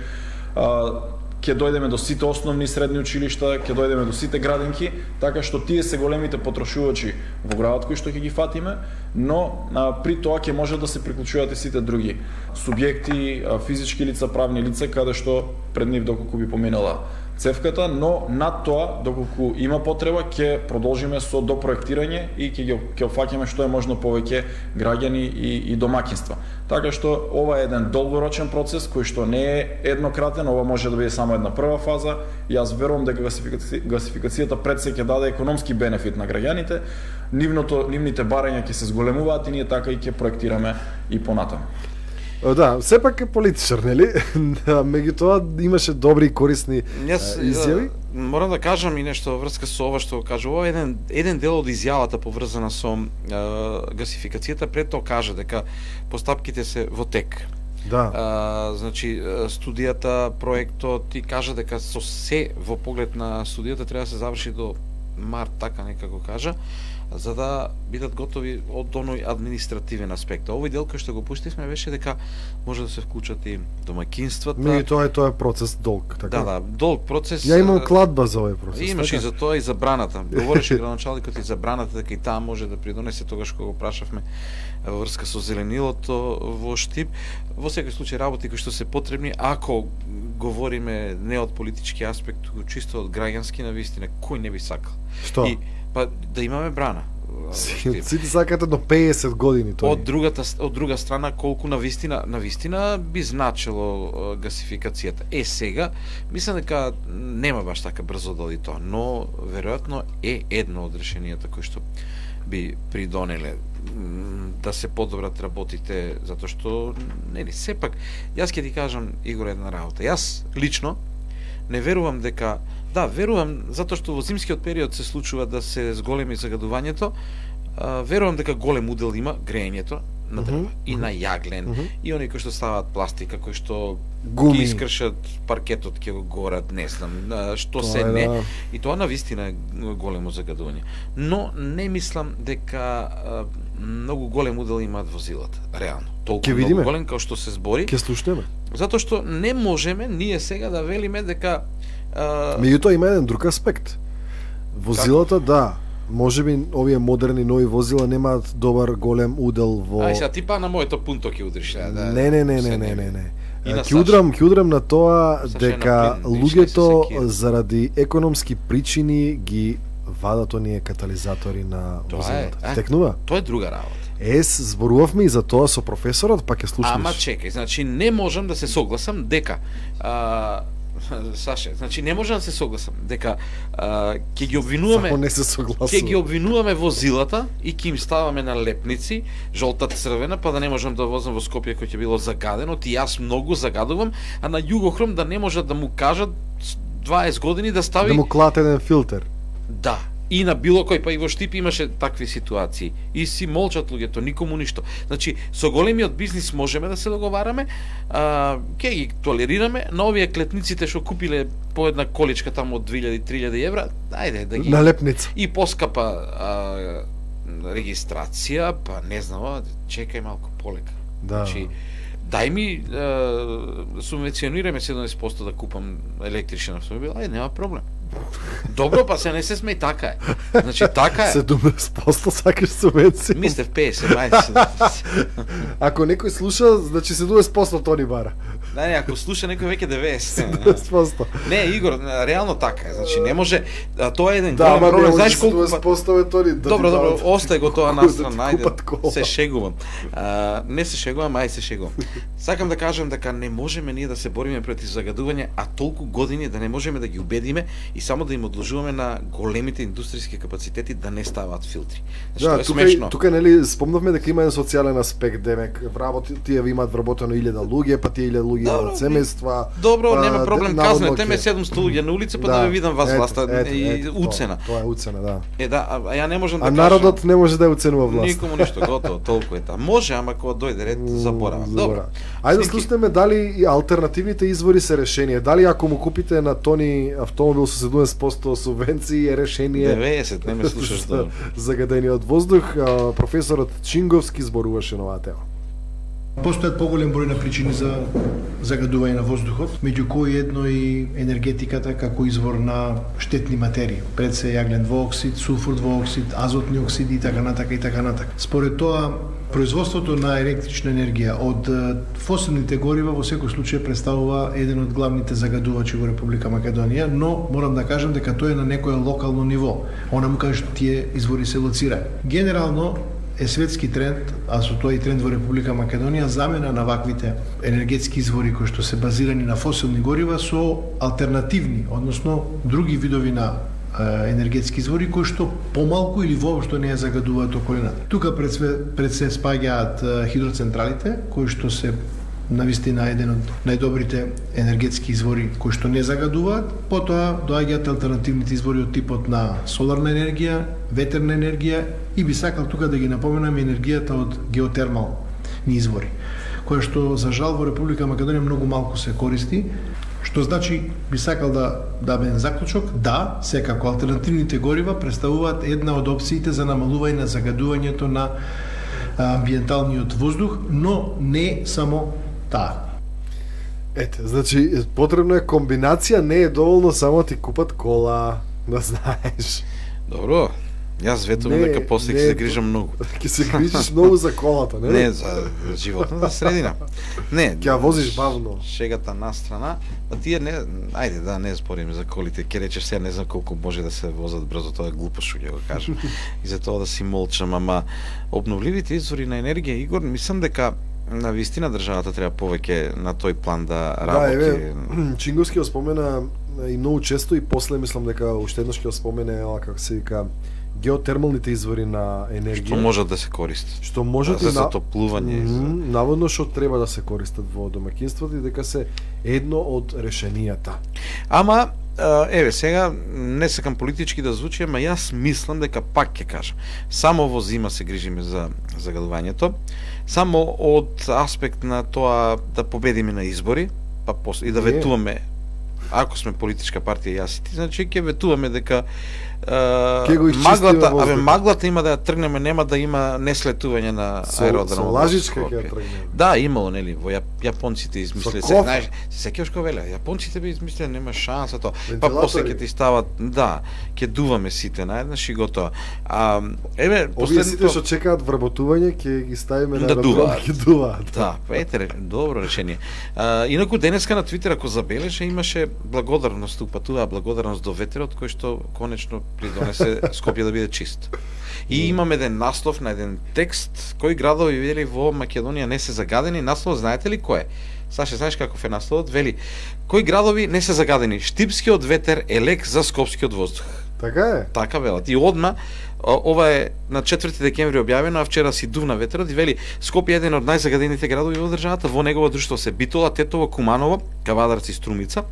ќе дојдеме до сите основни и средни училишта, ќе дојдеме до сите градинки, така што тие се големите потрошувачи во градот кои што ќе ги фатиме, но при тоа ќе може да се приклучуваат и сите други субјекти, физички лица, правни лица, каде што пред нив доколку би поминала цевката, но над тоа, доколку има потреба, ќе продолжиме со допроектирање и ќе опфаќаме што е можно повеќе граѓани и домаќинства. Така што ова е еден долгорочен процес кој што не е еднократен, ова може да биде само една прва фаза. Јас верувам дека гасификацијата пред се ќе даде економски бенефит на граѓаните, нивните барања ќе се зголемуваат и ние така и ќе проектираме и понатаму. Да, сепак е политичар, нели? Меѓутоа имаше добри и корисни изјави. Морам да кажам и нешто во врска со ова што кажа. Ова е еден дел од изјавата поврзана со гасификацијата. Пред тоа кажа дека постапките се во тек. Да. Значи студијата, проектот и кажа дека со се во поглед на студијата треба да се заврши до март, така некако кажа, за да бидат готови од оној административен аспект. Овој дел кој што го пуштивме беше дека може да се вклучат и домаќинствата. Тоа е процес долг, така. Да, долг процес. Ја имам кладба за овој процес. Имаш така? и за тоа и забраната. Говореше градоначалникот и забраната дека и таа може да придонесе тогаш кога го прашавме во врска со зеленилото во Штип. Во секој случај работи кои што се потребни, ако говориме не од политички аспект, туку чисто од граѓански, навистина кој не би сакал. Што? Па да имаме брана. Сите сакате до 50 години тоа. Од друга страна колку навистина би значило гасификацијата. Сега мислам дека нема баш така брзо да оди тоа, но веројатно е едно од решенијата кои што би придонеле да се подобрат работите, затоа што нели сепак јас ќе ти кажам, Игор, една работа. Јас лично не верувам дека верувам, затоа што во зимскиот период се случува да се зголеми загадувањето, верувам дека голем удел има грејењето на дрва и на јаглен, и оние кои што ставаат пластика, кои што ги искршат паркетот, ќе го горат, не знам, што тоа се не. Да. И тоа навистина е големо загадување. Но не мислам дека многу голем удел имаат возилата, реално. Толку многу голем како што се збори. Ќе слушнеме. Затоа што не можеме ние сега да велиме дека меѓутоа има еден друг аспект. Возилата, да, можеби овие модерни нови возила немаат добар голем удел во. Ај сега ти па на моето пунто ќе удриш, да. Не. Ќе удрам на тоа дека луѓето заради економски причини ги вадат оние катализатори на возилата. Текнува? Тоа е друга работа. Зборувавме и за тоа со професорот, па ќе слушнеш. Ама чекај, значи не можам да се согласам дека Саше, значи не можам да се согласам дека ќе ги обвинуваме. Само не се согласувам. Ќе ги обвинуваме возилата и ќе им ставаме на лепници, жолта, црвена, па да не можам да возам во Скопје кој ќе било загадено, ти јас многу загадувам, а на Југохром да не можат да му кажат 20 години да стави да му клат еден филтер. Да. И на било кој, па и во Штип имаше такви ситуации. И си молчат луѓето, никому ништо. Значи, со големиот бизнис можеме да се договараме, ќе ги толерираме, на овие клетниците што купиле по една количка там од 2000-3000 евра, ајде да ги... Налепница. И поскапа регистрација, па не знам, чекај малку полека. Да. Значи, дај ми субвенционираме 70% да купам електричен автомобил, ајде, нема проблем. Добро, па се не се смеј, така е. Значи, така е. 70% сакаш субвенција. Мислев 50, мајде. Ако некој слуша, значи 70% тони бара. Не, ако слуша некој веќе 90%. Не, Игор, реално така е. Значи, не може, тоа е еден голем проблем. Знаеш колку 70% тони. Добро, остај го тоа настрана, ајде. Се шегувам. Не се шегувам, ај се шегувам. Сакам да кажам дека не можеме ние да се бориме против загадување, а толку години да не можеме да ги убедиме и само да им одложуваме на големите индустријски капацитети да не ставаат филтри. Значи, да, тука нели спомнавме дека има еден социјален аспект, демек тие имаат вработено 1000 луѓе, па тие 1000 луѓе имаат семејства. Добро, нема проблем, казнете ме 700 луѓе на улица, па да ве видам вас власта и уцена. Тоа е уцена, да. А ја не можам да кажам. А народот не може да ја уценува власт. Никому ништо, готово, толку е таа. Може, ама кога дојде ред, заборавам. Добро. Ајде да слушнеме дали и алтернативните извори се решение. Дали ако му купите на Тони автомобил со 70% субвенции е решение 90, не ме слушаш добро. Загадениот воздух. Професорот Чинговски зборуваше на оваа тема. Постојат поголем број на причини за загадување на воздухот, меѓу кои едно и енергетиката како извор на штетни материи. Пред се јаглен двооксид, сулфур двооксид, азотни оксиди и така натака и така натака. Според тоа, производството на електрична енергија од фосилните горива во секој случај представува еден од главните загадувачи во Република Македонија, но морам да кажам дека тоа е на некое локално ниво, онаму каде што тие извори се лоцирани. Генерално е светски тренд, а со тоа и тренд во Република Македонија, замена на ваквите енергетски извори кои што се базирани на фосилни горива со алтернативни, односно други видови на енергетски извори кои што помалку или воопшто не ја загадуваат околината. Тука пред се спаѓаат хидроцентралите кои што се навистина еден од најдобрите енергетски извори кои што не загадуваат, потоа доаѓаат алтернативните извори од типот на соларна енергија, ветерна енергија и би сакал тука да ги напоменам енергијата од геотермални извори, која што за жал во Република Македонија многу малку се користи, што значи би сакал да дадем заклучок, да, секако алтернативните горива представуваат една од опциите за намалување на загадувањето на амбиенталниот воздух, но не само таа. Ете, значи потребно е комбинација, не е доволно само ти купат кола, да знаеш. Добро. Јас ветувам дека после ќе се грижам многу. Ќе се грижиш многу за колата, не? Не, за животната средина. Не, ќе ја возиш бавно. Шегата на страна, а тие не, ајде да не збориме за колите, ќе речеш сега не знам колку може да се возат брзо, тоа е глупост што ќе го кажам. И за тоа да си молчам, ама обновливите извори на енергија, Игор, мислам дека на вистина државата треба повеќе на тој план да работи. Да, еве, Чинговски го спомена и многу често и после мислам дека уште еднаш ќе го спомене, како се вика, геотермалните извори на енергија. Што можат да се користат. Што можат за затоплување. Наводно што треба да се користат во домаќинството и дека се едно од решенијата. Ама, еве, сега не сакам политички да звучи, ама јас мислам дека пак ќе кажам. Само во зима се грижиме за загадувањето, само од аспект на тоа да победиме на избори, па после и да ветуваме, ако сме политичка партија јас и ти, значи ќе ветуваме дека маглата има да ја тргнеме, нема да има неслетување на аеродром. Со лажичка ќе ја тргнеме. Да, имало, нели, во јапонците измислиле, знаеш, се сеќаваш кога веле, јапонците би измислиле, нема шанса тоа. Па после ќе ти стават, да, ќе дуваме сите наеднаш и готово. Еве, овие сите што чекаат вработување ќе ги ставиме на аеродром, ќе дуваат. Да, ете, добро решение. Инаку денеска на Твитер, ако забележа, имаше благодарност, упатуваа благодарност до ветерот кој што конечно придонесе Скопје да биде чист. И имаме еден наслов на еден текст, кои градови вели во Македонија не се загадени. Наслов знаете ли кој е? Саше, знаеш каков е насловот? Вели, кои градови не се загадени? Штипскиот ветер е лек за скопскиот воздух. Така е? Така велат. И одма, ова е на 4 декември објавено, а вчера си дувна ветерот и вели Скопје е еден од најзагадените градови во државата, во негово друштво се Битола, Тетово, Куманово, Кавадарци и Струмица.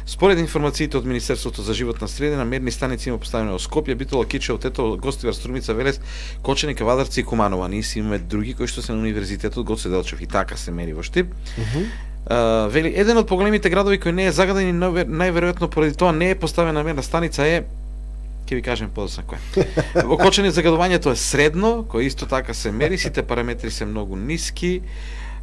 Според информациите од Министерството за животна средина, мерни станици има поставени во Скопје, Битола, Кичево, Тетово, Гостивар, Струмица, Велес, Кочани, Кавадарци и Куманово. Ние си имаме други кои што се на универзитетот Гоце Делчев и така се мери во Штип. Вели еден од поголемите градови кој не е загаден и најверојатно поради тоа не е поставена мерна станица е, ќе ви кажем подоцна кој. Во Кочани загадувањето е средно, кој исто така се мери, сите параметри се многу ниски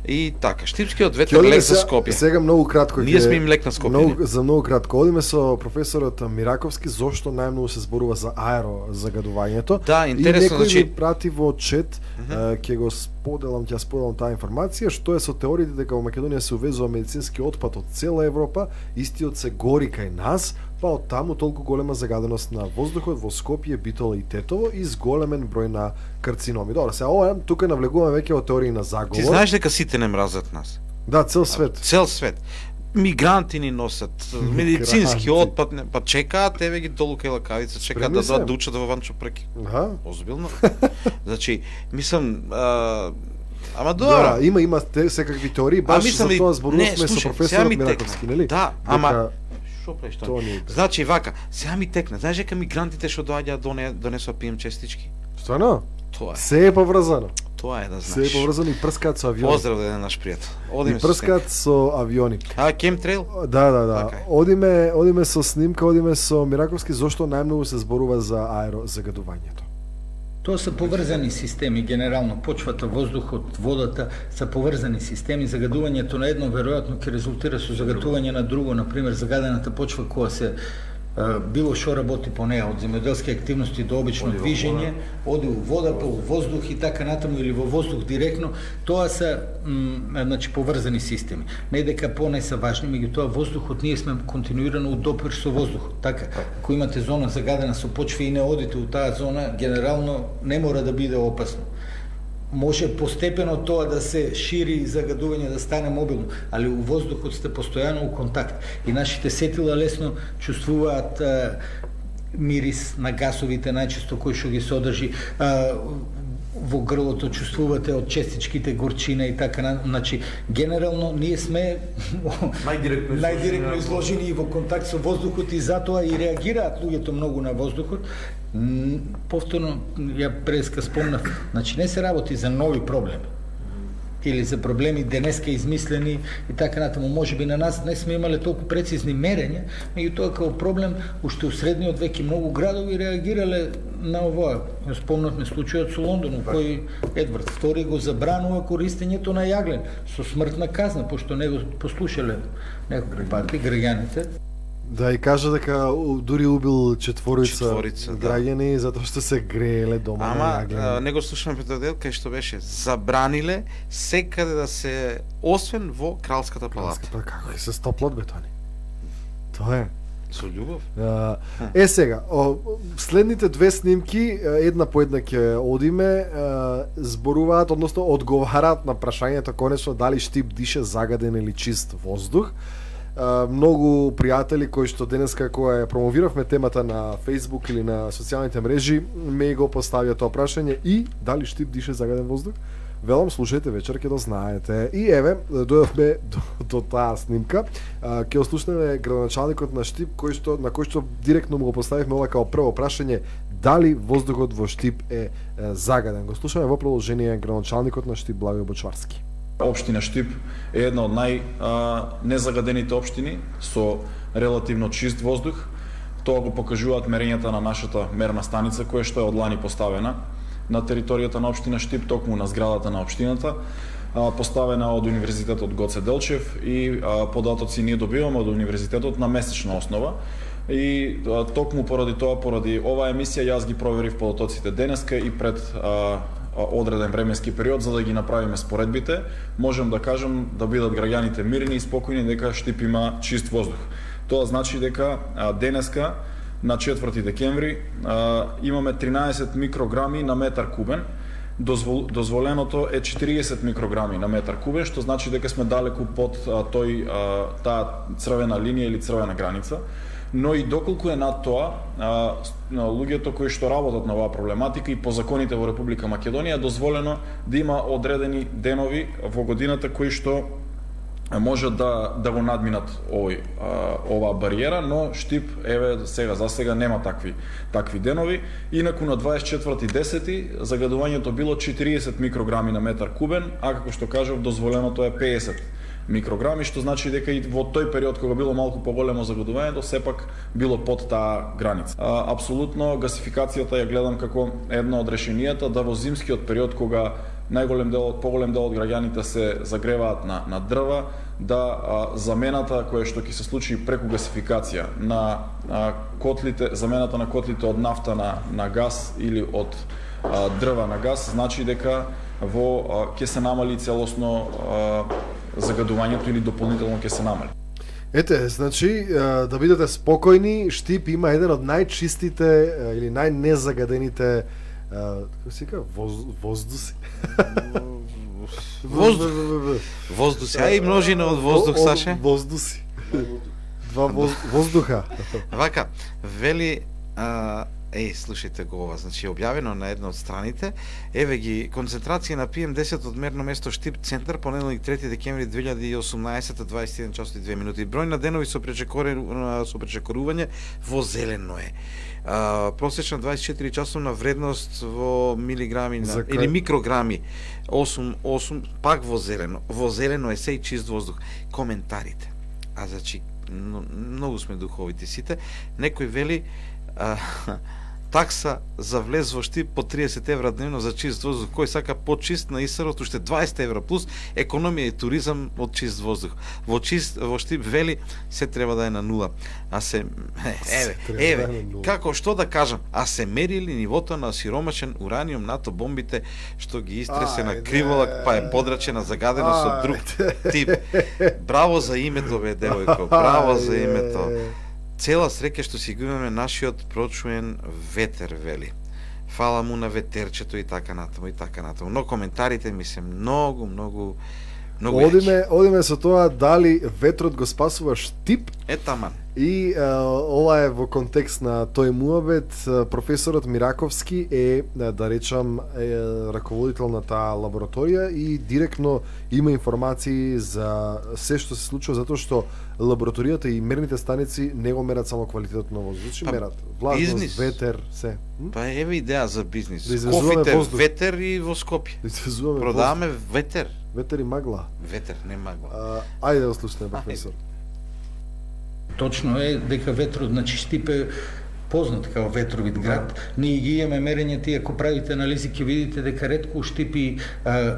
и така. Штипскиот ветер лек за Скопје. Сега многу кратко. Ние сме им лек на Скопје. За многу кратко. Одиме со професорот Мираковски зошто најмногу се зборува за аерозагадувањето. Да, интересно, значи значи ми прати во чет, ќе го споделам таа информација, што е со теориите дека во Македонија се увезува медицински отпад од цела Европа, истиот се гори кај нас, па од таму толку голема загаденост на воздухот во Скопје, Битола и Тетово и зголемен број на карциноми. Добро, сега ова тука навлегуваме веќе во теории на заговор. Ти знаеш дека сите не мразат нас? Да, цел свет. Цел свет. Мигранти ни носат, медицински отпад, па чекаат, еве ги долу кај лакавица, чекаат да дојдат да учат во Ванчо Преки. Озбилно. Значи, мислам, ама добро. Да, има секакви теории, баш за тоа зборувавме со професорот Мираковски, нели? Да, ама што правиш тоа? Значи вака, сега ми текна. Знаеш дека мигрантите што доаѓаат донесоа пием честички? Стварно? Тоа е. Се е поврзано. Тоа е да знаеш. Се е поврзано и прскаат со авиони. Поздрав да е наш пријател. Одиме и прскаат со авиони. Кемтрейл? Да. Одиме со снимка, одиме со Мираковски зошто најмногу се зборува за аерозагадувањето. Тоа се поврзани системи, генерално почвата, воздухот, водата се поврзани системи. Загадувањето на едно веројатно ќе резултира со загатување на друго, например загадената почва која се било што работи по неа, од земјоделски активности до обично движење, оди у вода, па у воздух и така натаму, или во воздух директно, тоа се значи поврзани системи. Не дека по-не се важни, меѓутоа воздухот ние сме континуирано у допир со воздухот. Така, ако имате зона загадена со почва и не одите у таа зона, генерално не мора да биде опасно. Може постепено тоа да се шири загадување, да стане мобилно, али у воздухот сте постојано у контакт и нашите сетила лесно чувствуваат мирис на гасовите, најчесто кои што ги содржи, во грлото чувствувате од честичките горчина и така, значи генерално ние сме најдиректно изложени и во контакт со воздухот и затоа и реагираат луѓето многу на воздухот. Повторно, ја преска спомнав, значи не се работи за нови проблеми или за проблеми денеска измислени и така натаму. Може би на нас не сме имале толку прецизни мерења, меѓутоа како проблем уште у средниот век и многу градови реагирале на ова. Спомнавме случајот со Лондон, кој Едвард II го забранува користењето на јаглен со смртна казна, пошто не го послушале некои пати граѓаните. Да, и кажа дека дури убил четворица граѓани затоа што се грееле дома на јаглен. Ама не го слушаме пред дел кај што беше забраниле секаде да се, освен во Кралската палата. Како се стоплат бетони? Тоа е. Со љубов. Сега, следните две снимки, една по една ќе одиме, зборуваат, односно одговараат на прашањето конечно дали Штип дише загаден или чист воздух. Многу пријатели кои што денеска кога ја промовиравме темата на Facebook или на социјалните мрежи ме го поставија тоа прашање и дали Штип дише загаден воздух. Велам, слушајте вечер ќе да знаете. И еве, дојдовме до таа снимка. Ќе ослушнеме градоначалникот на Штип на кој што директно му го поставивме ова како прво прашање дали воздухот во Штип е загаден. Го слушаме во продолжение градоначалникот на Штип Благој Бочварски. Општина Штип е една од незагадените општини со релативно чист воздух. Тоа го покажуваат мерењата на нашата мерна станица која што е од лани поставена на територијата на општина Штип, токму на зградата на општината, поставена од Универзитетот Гоце Делчев и податоци ние добиваме од Универзитетот на месечна основа. И токму поради тоа, поради оваа емисија, јас ги проверив податоците денеска и пред одреден временски период за да ги направиме споредбите, можам да кажам да бидат граѓаните мирни и спокојни дека Штип има чист воздух. Тоа значи дека денеска на 4 декември имаме 13 микрограми на метар кубен. Дозволеното е 40 микрограми на метар кубен, што значи дека сме далеку под таа црвена линија или црвена граница. Но и доколку е над тоа, луѓето кои што работат на оваа проблематика и по законите во Република Македонија е дозволено да има одредени денови во годината кои што може да го надминат оваа бариера, но Штип еве сега за сега нема такви денови. Инаку на 24.10 загадувањето било 40 микрограми на метар кубен, а како што кажав дозволеното е 50 микрограми, што значи дека и во тој период кога било малку поголемо загадувањето, сепак било под таа граница. Апсолутно гасификацијата ја гледам како едно од решенијата да во зимскиот период кога поголем дел од граѓаните се загреваат на дрва, да замената која што ќе се случи преку гасификација на котлите, замената на котлите од нафта на газ или од дрва на газ, значи дека ќе се намали целосно загадувањето или дополнително ќе се намали. Ете, значи, да бидете спокојни, Штип има еден од најчистите или најнезагадените воздуси. Воздуси, а и множина од воздух, Саше? Воздуси. Два воздуха. Вака, вели слушајте го ова, значи објавено на една од страните, еве ги концентрација на PM10 од мерно место Штип центар, понеделник 3 декември 2018, 21 часот и 2 минути. Број на денови со пречекорување во зелено е. Просечна 24 часовна вредност во милиграми или микрограми 8, пак во зелено. Во зелено е сеј чист воздух. Коментарите. Значи многу сме духовити сите. Некој вели такса за влез во Штип по 30 евра дневно за чист воздух. Кој сака по-чист на ИСР-от уште 20 евра плюс економија и туризам од чист воздух. Во Штип вели се треба да е на нула. А се како што да кажам, а се мерили нивото на сиромашен ураниум НАТО бомбите што ги истресе на криволак, па е подрачена загадено со друг тип. Браво за името, бе, девојко, браво за името. Цела среќа што си го имаме нашиот прочуен ветер, вели. Фала му на ветерчето и така натаму и така натаму. Но коментарите ми се многу Одиме со тоа дали ветрот го спасува Штип. Таман. И ова е во контекст на тој муабет. Професорот Мираковски е, да речам, раководител на таа лабораторија и директно има информации за се што се случува, затоа што лабораторијата и мерните станици не го мерат само квалитетот на воздух, мерат влажност, ветер, се. Па еве идеја за бизнис. Да Кофите воздух. ветер и во Скопје. Да продаваме ветер. Ветер и магла. Ветер, не магла. Ајде да слушаме, професор. Точно е дека ветрот, значи Штип е познат као ветровит град. Ние ги имаме мерењата и ако правите анализи ќе видите дека ретко Штип и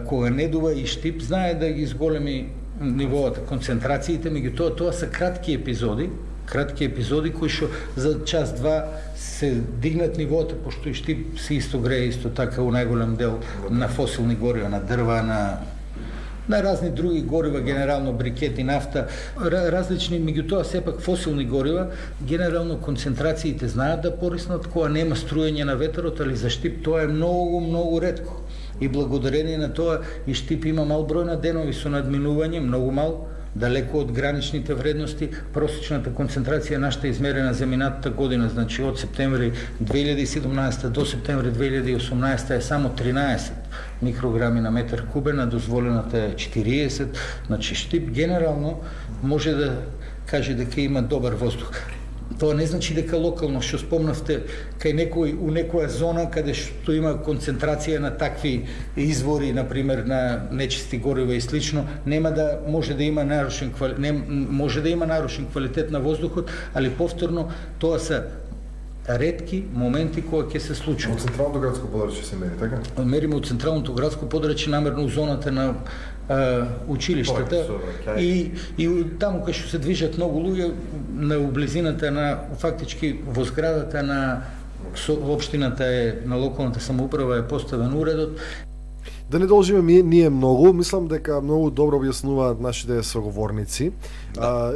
кога не дува и Штип знае да ги изголеми нивоата, концентрациите, меѓутоа тоа са кратки епизоди кои што за час-два се дигнат нивоата, пошто и Штип се исто грее исто така у најголем дел на фосилни горива, на дрва, на разни други горива, генерално брикети, нафта, различни, меѓутоа сепак фосилни горива, генерално концентрациите знаат да пориснат кога нема струење на ветерот, али за Штип тоа е многу ретко. И благодарение на тоа и Штип има мал број на денови со надминување, многу мал, далеко од граничните вредности. Просечната концентрација нашата измерена за минатата година, значи од септември 2017 до септември 2018 е само 13 микрограми на метар кубен, а дозволената е 40. Значи Штип генерално може да каже дека има добар воздух. Тоа не значи дека локално, што спомнавте, у некоја зона каде што има концентрација на такви извори, например на нечисти горива и слично, може да има нарушен квалитет на воздухот, али повторно тоа се ретки моменти кога ќе се случува. Од централното градско подрачје се мери, така? Мериме од централното градско подрачје намерно у зоната на училиштата и таму кај што се движат многу луѓе на близината на фактички во зградата на општината на локалната самоуправа е поставен уредот. Да не должиме ние многу, мислам дека многу добро објаснуваат нашите соговорници.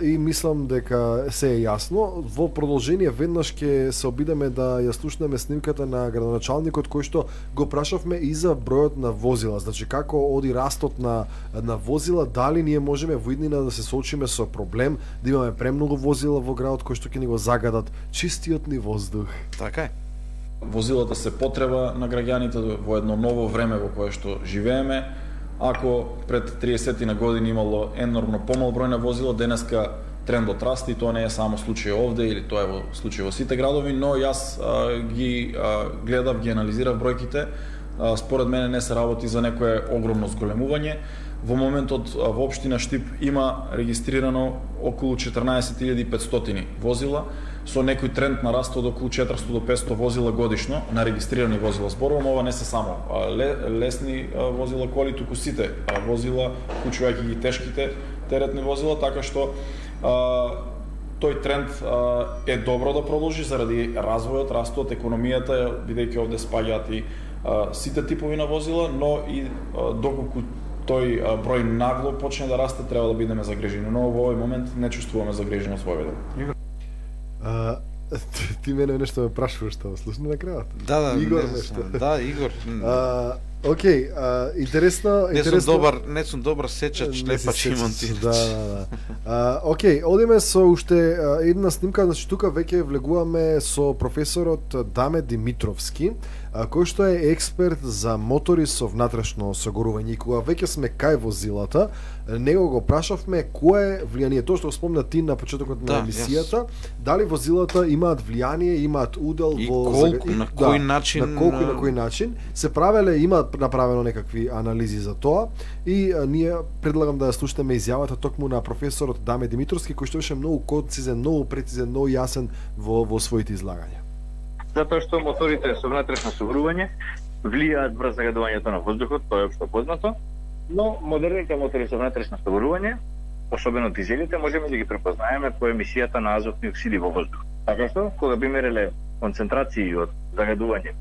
И мислам дека се е јасно. Во продолжение веднаш ќе се обидеме да ја слушнеме снимката на градоначалникот кој што го прашавме и за бројот на возила. Значи како оди растот на возила, дали ние можеме во иднина да се соочиме со проблем да имаме премногу возила во градот кои што ќе ни го загадат чистиот ни воздух. Така е. Возилата се потреба на граѓаните во едно ново време во кое што живееме. Ако пред 30 на години имало енормно помал број на возила, денеска трендот расте и тоа не е само случај овде или тоа е во случај во сите градови, но јас ги гледав, ги анализирав бројките. Според мене не се работи за некое огромно зголемување. Во моментот во општина Штип има регистрирано околу 14.500 возила, со некој тренд на раст од околу 400 до 500 возила годишно на регистрирани возила. Зборувам, ова не се само лесни возила, коли, туку сите возила, вклучувајќи ги тешките теретни возила, така што тој тренд е добро да продолжи заради развојот, растот, економијата, бидејќи овде спаѓаат и сите типови на возила, но и доколку тој број нагло почне да расте, треба да бидеме загрижени, но во овој момент не чувствуваме загриженост во овој дел. Ти мене нешто ме прашуваш, што слушна на крајот? Да, Игор нешто. Да, Игор. Океј, интересно. Не сум добар сечач, лепач и монтирач. Да. Океј, одиме со уште една снимка, значи тука веќе влегуваме со професорот Даме Димитровски, кој што е експерт за мотори со внатрешно согорување. И кога веќе сме кај возилата, него го прашавме кое е влијание, тоа што спомна ти на почетокот на емисијата, дали возилата имаат влијание, имаат удел во колку, на кој начин, на колку и на кој начин се правеле, имаат направено некакви анализи за тоа и ние предлагам да ја слушнеме изјавата токму на професорот Даме Димитровски, кој што беше многу концизен, многу прецизен, многу јасен во своите излагања. Затоа што моторите со внатрешно согрување влијаат врз загадувањето на воздухот, тоа е општо познато, но модерните мотори со внатрешно согрување, особено дизелите, можеме да ги препознаеме по емисијата на азотни оксиди во воздух. Така што, кога би мереле концентрации од загадување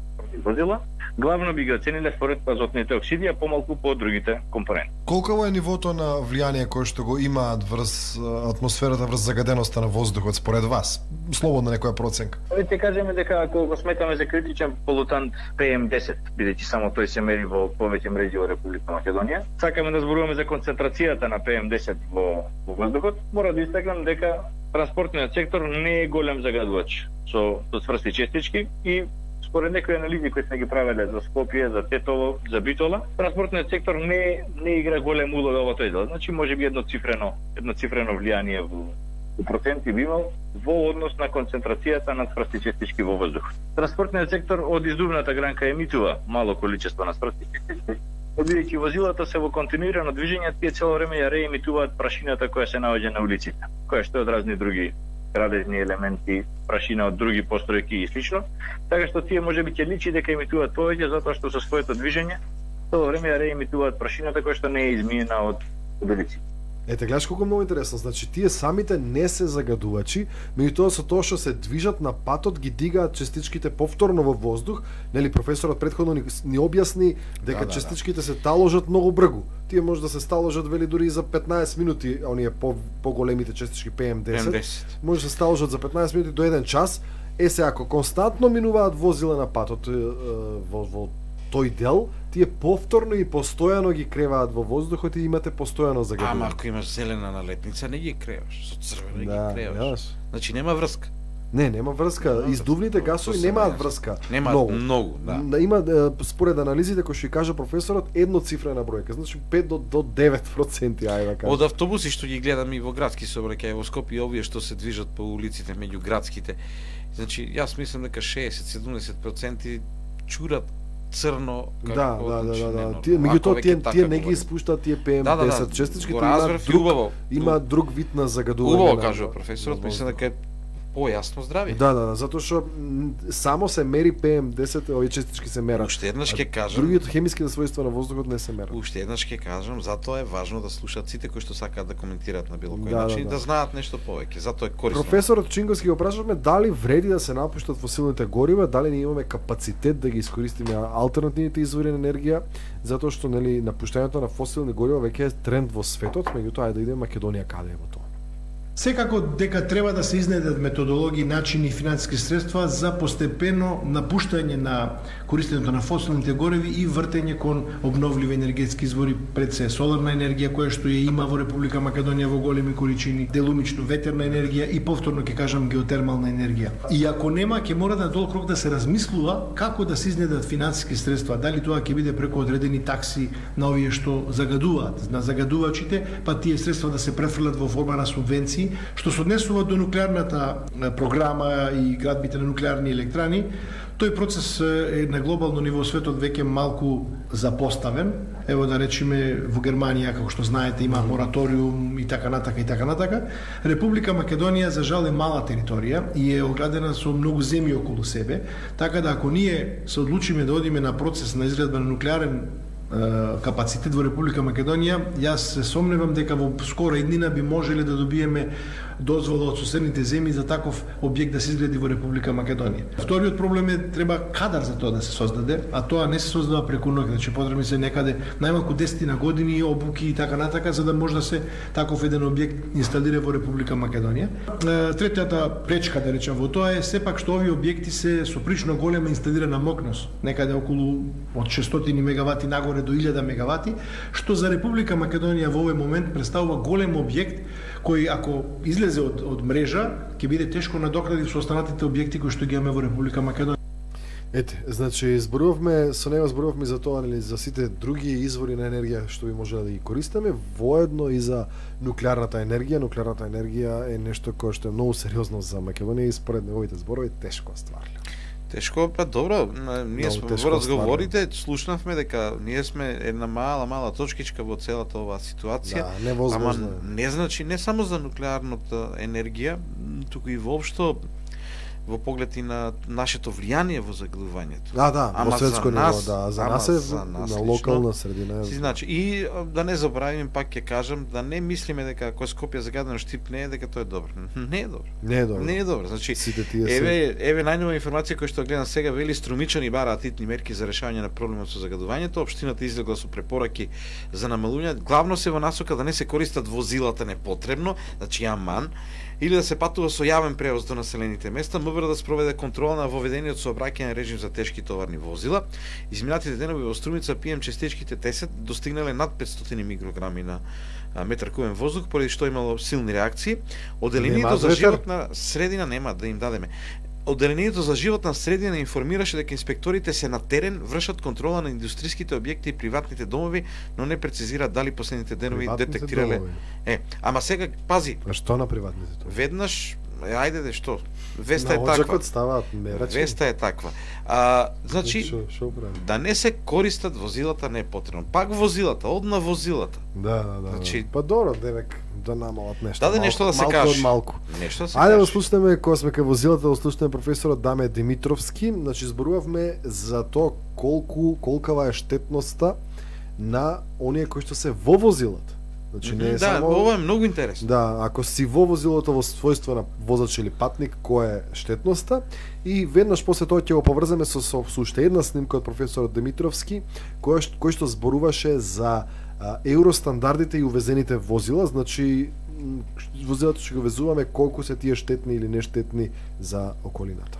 возила, главно би ги оцениле според азотните оксиди, а помалку по другите компоненти. Колку е нивото на влијание кое што го имаат врз атмосферата, врз загаденоста на воздухот според вас? Слободна некоја проценка. Ќе кажеме дека ако го сметаме за критичен полутант PM10, бидејќи само тој се мери во повеќе мрежи во Република Македонија, сакаме да зборуваме за концентрацијата на PM10 во воздухот, мора да истакнам дека транспортниот сектор не е голем загадувач со сврсти честички и според некои анализи кои сме ги правеле за Скопје, за Тетово, за Битола, транспортниот сектор не игра голем улога во тој дел. Значи може би едноцифрено влијание во проценти би имал во однос на концентрацијата на сврсти честички во воздух. Транспортниот сектор од издувната гранка емитува мало количество на сврсти честички, бидејќи возилата се во континуирано движење, тие цело време ја реемитуваат прашината која се наоѓа на улиците, која што е од разни други градежни елементи, прашина од други постројки и слично, така што тие можеби ќе личи дека емитуваат повеќе затоа што со своето движење цело време ја реемитуваат прашината која што не е измиена од улиците. Ете, гледаш колку многу интересно. Значи, тие самите не се загадувачи, меѓутоа со тоа што се движат на патот ги дигаат частичките повторно во воздух. Нели професорот претходно ни објасни дека частичките се таложат многу бргу. Тие може да се сталожат вели дури и за 15 минути, оние поголемите частички PM10. Може да се сталожат за 15 минути до 1 час. Се ако константно минуваат возила на патот во тој дел, тие повторно и постојано ги креваат во воздухот и имате постојано загадување. Ама ако имаш зелена налетница, не ги креваш, со црвена ги креваш. Значи нема врска. Нема врска. Издувните гасови немаат врска. Немаат многу, да. Има според анализите кои што каже професорот едноцифрена бројка, значи 5 до 9%, ајде да кажам. Од автобуси што ги гледам и во градски сообраќај во Скопје, овие што се движат по улиците меѓу градските. Значи јас мислам дека 60-70% чурат црно како Тие меѓутоа тие не ги испуштаат тие PM10 честичките, има друг вид на загадување. Убаво кажува професорот, мислам дека е појасно здравје. Да, затоа што само се мери PM10, овие честички се мерат. Уште еднаш ќе кажам, другите хемиските својства на воздухот не се мерат. Уште еднаш ќе кажам, затоа е важно да слушаат сите кои што сакаат да коментираат на било кој начин, да знаат нешто повеќе. Затоа е корисно. Професорот Чинговски го прашавме дали вреди да се напуштат фосилните горива, дали ние имаме капацитет да ги искористиме алтернативните извори на енергија, затоа што нели напуштањето на фосилни горива веќе е тренд во светот, меѓутоа да иде Македонија каде е во тоа. Секако дека треба да се изнедат методологии, начини и финансиски средства за постепено напуштање на користењето на фосилните гориви и вртење кон обновливи енергетски извори, пред се соларна енергија која што ја има во Република Македонија во големи количини, делумично ветерна енергија и повторно ќе кажам геотермална енергија. И ако нема, ќе мора на долг рок да се размислува како да се изнедат финансиски средства, дали тоа ќе биде преку одредени такси на овие што загадуваат, на загадувачите, па тие средства да се префрлат во форма на субвенции, што се однесува до нуклеарната програма и градбите на нуклеарни електрани. Тој процес е на глобално ниво светот веќе малку запоставен. Ево да речеме во Германија, како што знаете, има мораториум и така натака. Република Македонија за жал е мала територија и е оградена со многу земји околу себе, така да ако ние се одлучиме да одиме на процес на изградба на нуклеарен капацитет во Република Македонија, јас се сомневам дека во скора иднина би можеле да добиеме дозвола од соседните земји за таков објект да се изгради во Република Македонија. Вториот проблем е треба кадар за тоа да се создаде, а тоа не се создава преку ноќ, значи потребни се некаде најмалку 10 години обуки и така натака за да може да се таков еден објект инсталира во Република Македонија. Третата пречка да речам во тоа е сепак што овие објекти се со прилично голема инсталирана мокност, некаде околу од 600 мегавати нагоре до 1000 мегавати, што за Република Македонија во овој момент представува голем објект кој ако излезе од мрежа ќе биде тешко надокнадив со останатите објекти кои што ги имаме во Република Македонија. Ете, значи зборувавме за тоа, нели, за сите други извори на енергија што би можеле да ги користиме, воедно и за нуклеарната енергија. Нуклеарната енергија е нешто кое што е многу сериозно за Македонија и според неговите зборови тешко стварно. Тешко, па добро, ние сме во разговорите, слушнавме дека ние сме една мала точкичка во целата оваа ситуација. Да, невозможно. Ама не значи не само за нуклеарната енергија, туку и воопшто во поглед и на нашето влијание во загадувањето. Да, во светско ниво, да, за нас е на локална средина. Значи, и да не заборавим, пак ќе кажам, да не мислиме дека ако Скопје загадено Штип не е, дека тоа е добро. Не е добро. Не е добро. Значи, еве најнова информација која што гледам сега, вели Струмичани бараат итни мерки за решавање на проблемот со загадувањето. Општината излегла со препораки за намалување, главно се во насока да не се користат возилата непотребно, значи аман, или да се патува со јавен превоз до населените места, МВР да спроведе контрола на воведениот сообраќајен режим за тешки товарни возила. Изминатите денови во Струмица PM честичките 10 достигнале над 500 микрограми на метар кубен воздух, поради што имало силни реакции. Оделението за животна средина нема да им дадеме. Оделението за животна средина информираше дека инспекторите се на терен, вршат контрола на индустријските објекти и приватните домови, но не прецизира дали последните денови детектирале. Ама сега пази. А што на приватните домови? Веднаш, ајде што? Веста е таква. Ставаат мерачи. Веста е таква. Значи, да не се користат возилата непотребно. Пак возилата, одна возилата. Да. Значи, па добро, девек да намалат нешто. Даде нешто да се каже. Малку. Нешто да се Ајде да слушнеме кога сме кај возилата, да слушнеме професорот Даме Димитровски. Значи зборувавме за тоа колкава е штетноста на оние кои што се во возилата. Значи не е само ова е многу интересно. Да, ако си во возилото во својство на возач или патник, која е штетноста, и веднаш после тоа ќе го поврземе со уште една снимка од професорот Димитровски, кој што зборуваше за евростандардите и увезените возила, значи возилата што го везуваме, колку се тие штетни или нештетни за околината.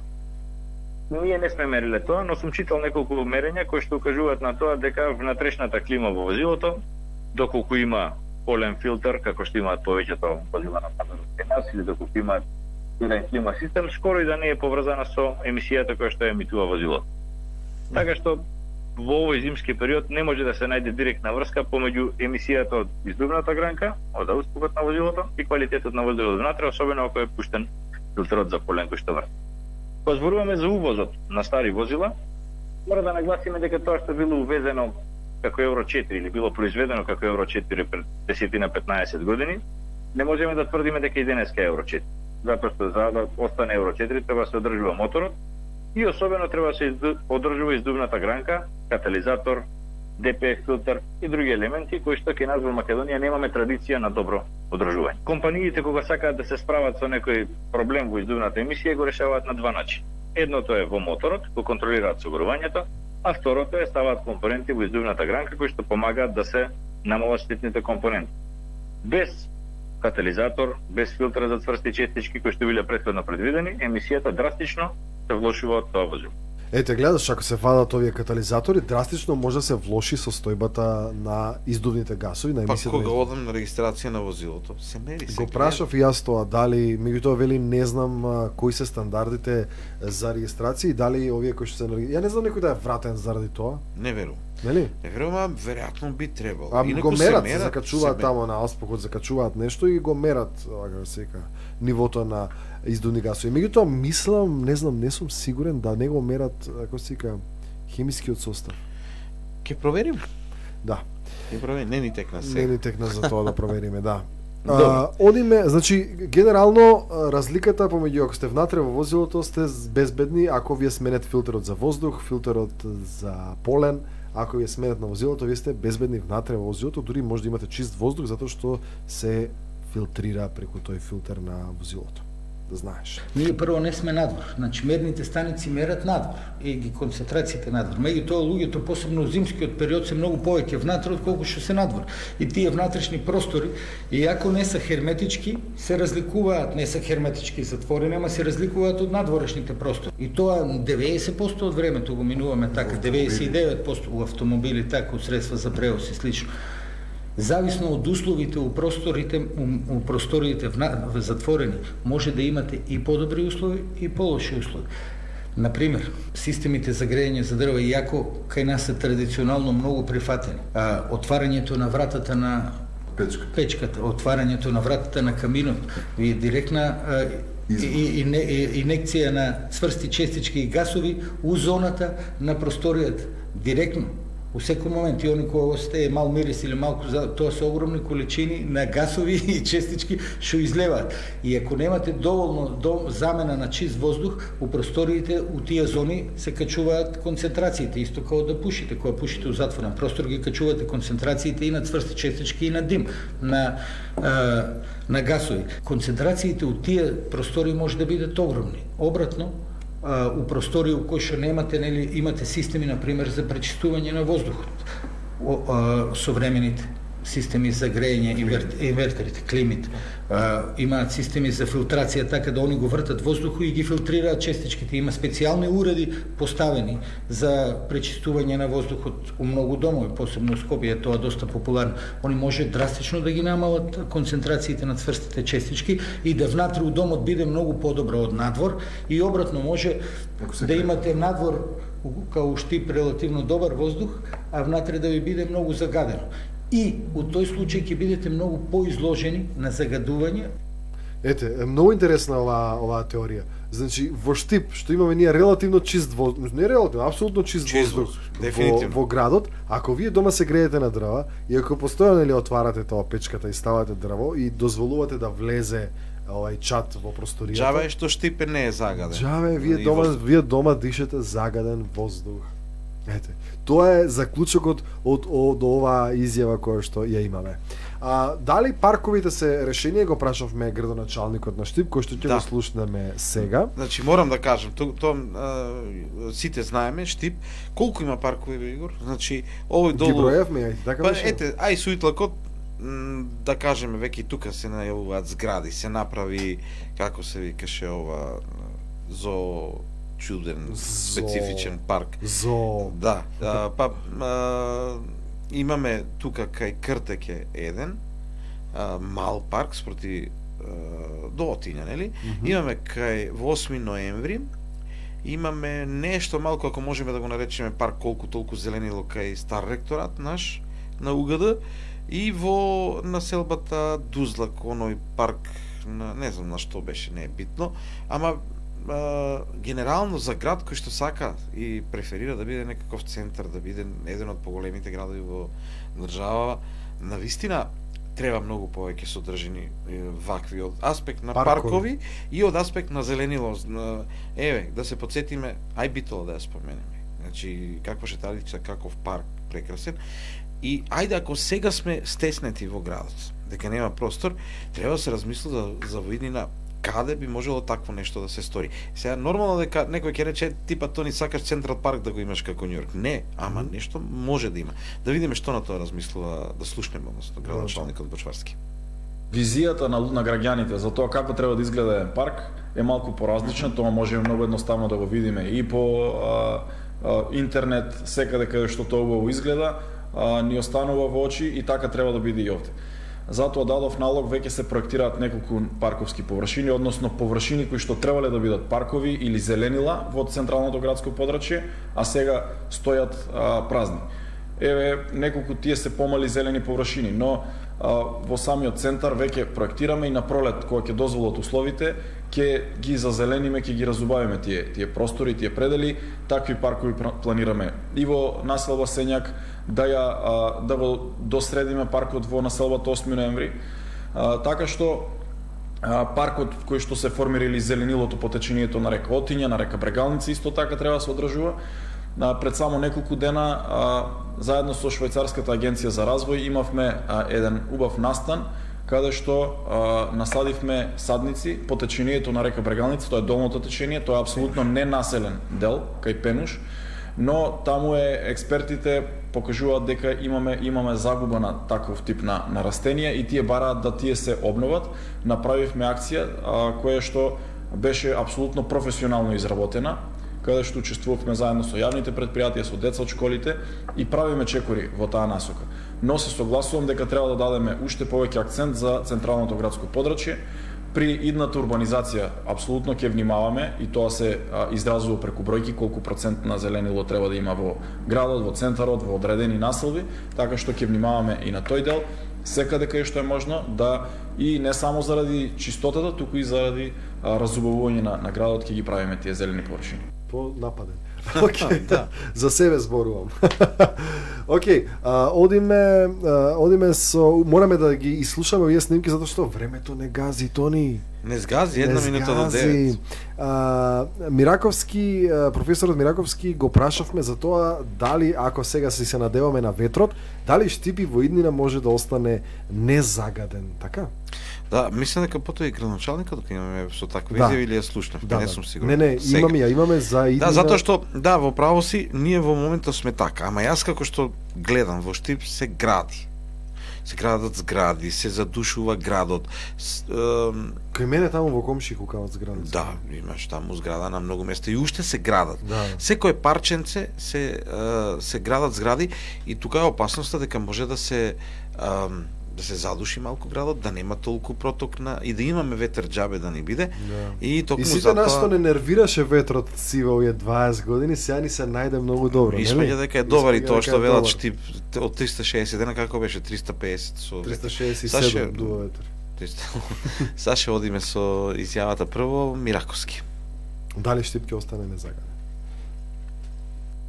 Ние не сме мериле тоа, но сум читал неколку мерења кои што укажуваат на тоа дека внатрешната клима во возилото, доколку има полен филтер, како што имаат повеќето возила на пазарот кај нас, или доколку имаат клима систем, скоро и да не е поврзана со емисијата која што емитува возилото. Така што во овој зимски период не може да се најде директна врска помеѓу емисијата од издувната гранка, од ауспухот на возилото и квалитетот на воздухот внатре, особено ако е пуштен филтерот за полен кој што врти. Кога зборуваме за увозот на стари возила, мора да нагласиме дека тоа што било увезено како Евро 4 или било произведено како Евро 4 пред 10-15 години, не можеме да тврдиме дека и денеска е Евро 4. Затоа што за да остане Евро 4 треба да се одржува моторот и особено треба да се одржува издувната гранка, катализатор, DPF филтер и други елементи кои што кај нас во Македонија немаме традиција на добро одржување. Компаниите кога сакаат да се справат со некој проблем во издувната емисија го решаваат на два начини. Едното е во моторот, го контролираат согорувањето, а второто е ставаат компоненти во издувната гранка кои што помагаат да се намалат штетните компоненти. Без катализатор, без филтер за цврсти честички кои што биле претходно предвидени, емисијата драстично се влошува од тоа возило. Ете, гледаш, ако се фадат овие катализатори, драстично може да се влоши состојбата на издувните гасови, на емисијата. Па кога одам на регистрација на возилото, се мери се. Го прашав и јас тоа, дали, меѓутоа вели не знам кои се стандардите за регистрација и дали овие кои што се ја не знам некој да е вратен заради тоа. Не верувам. Нели? Не верувам, веројатно би требало. Го мерат, се закачуваат тамо на ауспухот, закачуваат нешто и го мерат, како се вика, нивото на издувни гасови. Меѓутоа мислам, не знам, не сум сигурен да не го мерат, како се вика, хемискиот состав. Ќе проверим. Да. Ќе проверим, не ни текна сега. Не ни текна за тоа да провериме, да. Одиме, значи генерално разликата помеѓу ако сте внатре во возилото сте безбедни ако вие сменете филтерот за воздух, филтерот за полен. Ако вие сменете на возилото, вие сте безбедни внатре во возилото, дури може да имате чист воздух затоа што се филтрира преку тој филтер на возилото. Да знаеш. Ние прво не сме надвор, значи мерните станици мерат надвор и ги концентрациите надвор. Меѓутоа луѓето посебно зимскиот период се многу повеќе внатре отколку што се надвор. И тие внатрешни простори, иако не се херметички, се разликуваат, не се херметички затворени, ама се разликуваат од надворешните простори. И тоа 90% од времето го минуваме така, 99% у автомобили така, од средства за превоз и слично. Зависно од условите у просториите затворени, може да имате и подобри услови и полоши услови. Например, системите за грејење за дрва, иако кај нас се традиционално многу прифатени, отварањето на вратата на печката, отварањето на вратата на каминот, ви директна инекција на цврсти честички и гасови у зоната на просторијата, директно. У секој момент и они кои остае мал мирис или малку, тоа се огромни количини на гасови и честички што излеваат. И ако немате доволно замена на чист воздух, у просториите, у тие зони се качуваат концентрациите, исто како да пушите. Кога пушите у затворен простор, ги качувате концентрациите и на цврсти честички и на дим, на гасови. Концентрациите у тие простори може да бидат огромни. Обратно, у простори у кои што немате, нели, имате системи, например, за пречистување на воздухот. Современите системи за грејење, инвертерите, климите, имаат системи за филтрација, така да они го вртат воздухот и ги филтрираат честичките. Има специјални уреди поставени за пречистување на воздухот у многу домови, посебно у Скопје, тоа доста популарно. Они може драстично да ги намалат концентрациите на цврстите честички и да внатре у домот биде многу подобро од надвор, и обратно може да имате надвор као Штип релативно добар воздух, а внатре да ви биде многу загадено. И у тој случај ќе бидете многу поизложени на загадување. Ете, многу интересна оваа теорија. Значи, во Штип, што имаме ние релативно чист воздух, не релативно, апсолутно чист воздух во градот, ако вие дома се греете на дрва и ако постојано или отварате тоа печката и ставате дрво и дозволувате да влезе овај чат во просторијата. Джаве што Штипе не е загаден. Джаве, вие дома дишете загаден воздух. Ете, тоа е заклучокот од оваа изјава која што ја имаме. Дали парковите се решение, го прашавме градоначалникот на Штип, кој што ќе го слушнеме сега. Значи, морам да кажам, сите знаеме, Штип, колку има паркови, Игор? Значи, овој долу... Ги броевме, така беше? Ете, ај суитлакот, да кажеме, веќе и тука се најавуваат згради, се направи, како се викаше ова, чуден, специфичен парк. Да, имаме тука кај Кртеке еден, мал парк спроти до Отиња, нели? Имаме кај 8 ноември, имаме нешто малку, ако можеме да го наречеме парк, колку толку зеленило кај Стар ректорат наш, на УГД, и во населбата Дузлак, оној парк, не знам на што беше, не е битно, ама генерално за град кој што сака и преферира да биде некаков центар, да биде еден од поголемите градови во држава, навистина треба многу повеќе содржини вакви од аспект на паркови и од аспект на зеленило. Еве, да се потсетиме, ај Битола да ја споменеме. Значи, каква шеталица, каков парк прекрасен. И ајде, ако сега сме стеснети во градот, дека нема простор, треба да се размисли за виднина каде би можело такво нешто да се стори. Сега нормално дека некој ќе рече типа тони сакаш Централ парк да го имаш како Њујорк. Не, ама нешто може да има. Да видиме што на тоа размислува, да слушнеме, односно градоначалникот Бочварски. Визијата на граѓаните за тоа како треба да изгледа еден парк е малку поразлична, тоа можеме многу едноставно да го видиме и по интернет, секаде каде што тоа убаво изгледа, ни останува во очи и така треба да биде и овде. Затоа дадов налог, веќе се проектираат неколку парковски површини, односно површини кои што требале да бидат паркови или зеленила во централното градско подрачје, а сега стојат празни. Еве, неколку тие се помали зелени површини, но во самиот центар веќе проектираме и на пролет, кога ќе дозволат условите, ќе ги зазелениме, ќе ги разубавиме тие простори, тие предели, такви паркови планираме и во населба Сењак, да го досредиме паркот во населбата 8 ноември, така што паркот кој што се формира или зеленилото по течението на река Отиња, на река Брегалница, исто така треба да се одржува. Пред само неколку дена, заедно со Швајцарската агенција за развој, имавме еден убав настан, каде што насадивме садници по течението на река Брегалница, тоа е долното течение, тоа е апсолутно ненаселен дел, кај Пенуш, но таму експертите покажуваат дека имаме загуба на таков тип на растенија и тие бараат да тие се обноват. Направивме акција која што беше апсолутно професионално изработена, каде што учествувавме заедно со јавните предпријатија, со деца од школите и правиме чекори во таа насока. Но се согласувам дека треба да дадеме уште повеќе акцент за централното градско подрачје. При идната урбанизација апсолутно ќе внимаваме и тоа се изразува преку бројки колку процент на зеленило треба да има во градот, во центарот, во одредени населби, така што ќе внимаваме и на тој дел. секаде кај што е можно, да и не само заради чистотата, туку и заради разубавување на градот ќе ги правиме тие зелени површини. По нападен. Океј, да. За себе зборувам. Океј, одиме со, мораме да ги изслушаме овие снимки затоа што времето не гази, Тони. Не сгази, една минута до 9. Мираковски, професорот Мираковски го прашавме за тоа дали, ако сега се надеваме на ветрот, дали Штип во иднина може да остане незагаден, така? Да, мислам дека потоа и градоначалникот дека имаме со таква изјава или ја слушнав, не сум сигурен. Не, имаме за иднина. Да, затоа што во право си, ние во моментот сме така, ама јас како што гледам во Штип се гради. Се градат згради, се задушува градот. Кај мене таму во комши кукават згради. Да, имаш таму зграда на многу места и уште се градат. Да. Секој парченце се градат згради и тука е опасноста дека може да се задуши малку градот, да нема толку проток и да имаме ветер џабе да не биде. Да. И токму сите нас што не нервираше ветрот си во овие 20 години, сега ни се најде многу добро, нели? Испаѓа дека е добар и тоа што велат Штип од 360 дена, како беше 350 со 367 дува ветер. Саше одиме со изјавата прво Мираковски. Дали Штип ќе остане незагаден?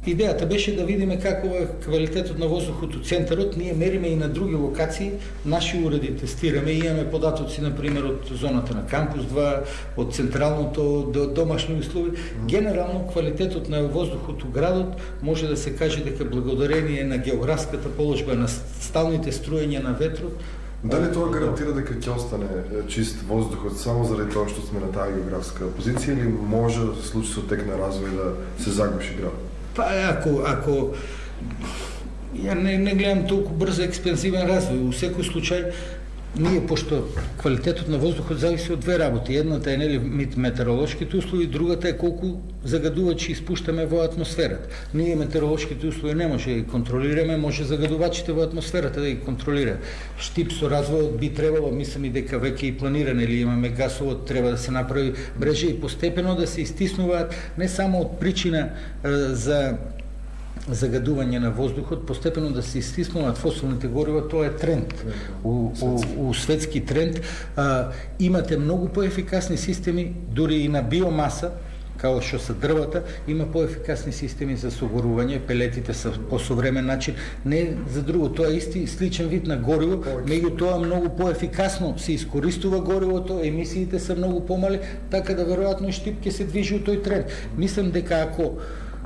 Идејата беше да видиме како е квалитетот на воздухот у центарот. Ние мериме и на други локации, наши уреди тестираме, имаме податоци например од зоната на Кампус 2, од централното до домашни услови. Генерално квалитетот на воздухот у градот може да се каже дека благодарение на географската положба, на сталните струења на ветрот. Дали тоа гарантира дека ќе остане чист воздухот само заради тоа што сме на таа географска позиција или може да се случи со тек на развој да се загуши градот? Па ако ја не гледам толку брзо експензивен развој, во секој случај ние, пошто квалитетот на воздухот зависи од две работи. Едната е нели метеоролошките услови, другата е колку загадувачи испуштаме во атмосферата. Ние метеоролошките услови не може да ги контролираме, може загадувачите во атмосферата да ги контролира. Штип со развојот би требало, мислам и дека веќе и планиране или имаме гасовод, треба да се направи мрежа и постепено да се истиснуваат не само од причина за загадување на воздухот, постепено да се истиснуваат фосилните горива, тоа е тренд. У светски тренд имате многу поефикасни системи, дури и на биомаса, како што се дрвата, има поефикасни системи за согорување, пелетите се по современ начин, не за друго, тоа е исти сличен вид на гориво, меѓутоа многу поефикасно се искористува горивото, емисиите се многу помали, така да веројатно и Штип ќе се движи у тој тренд. Мислам дека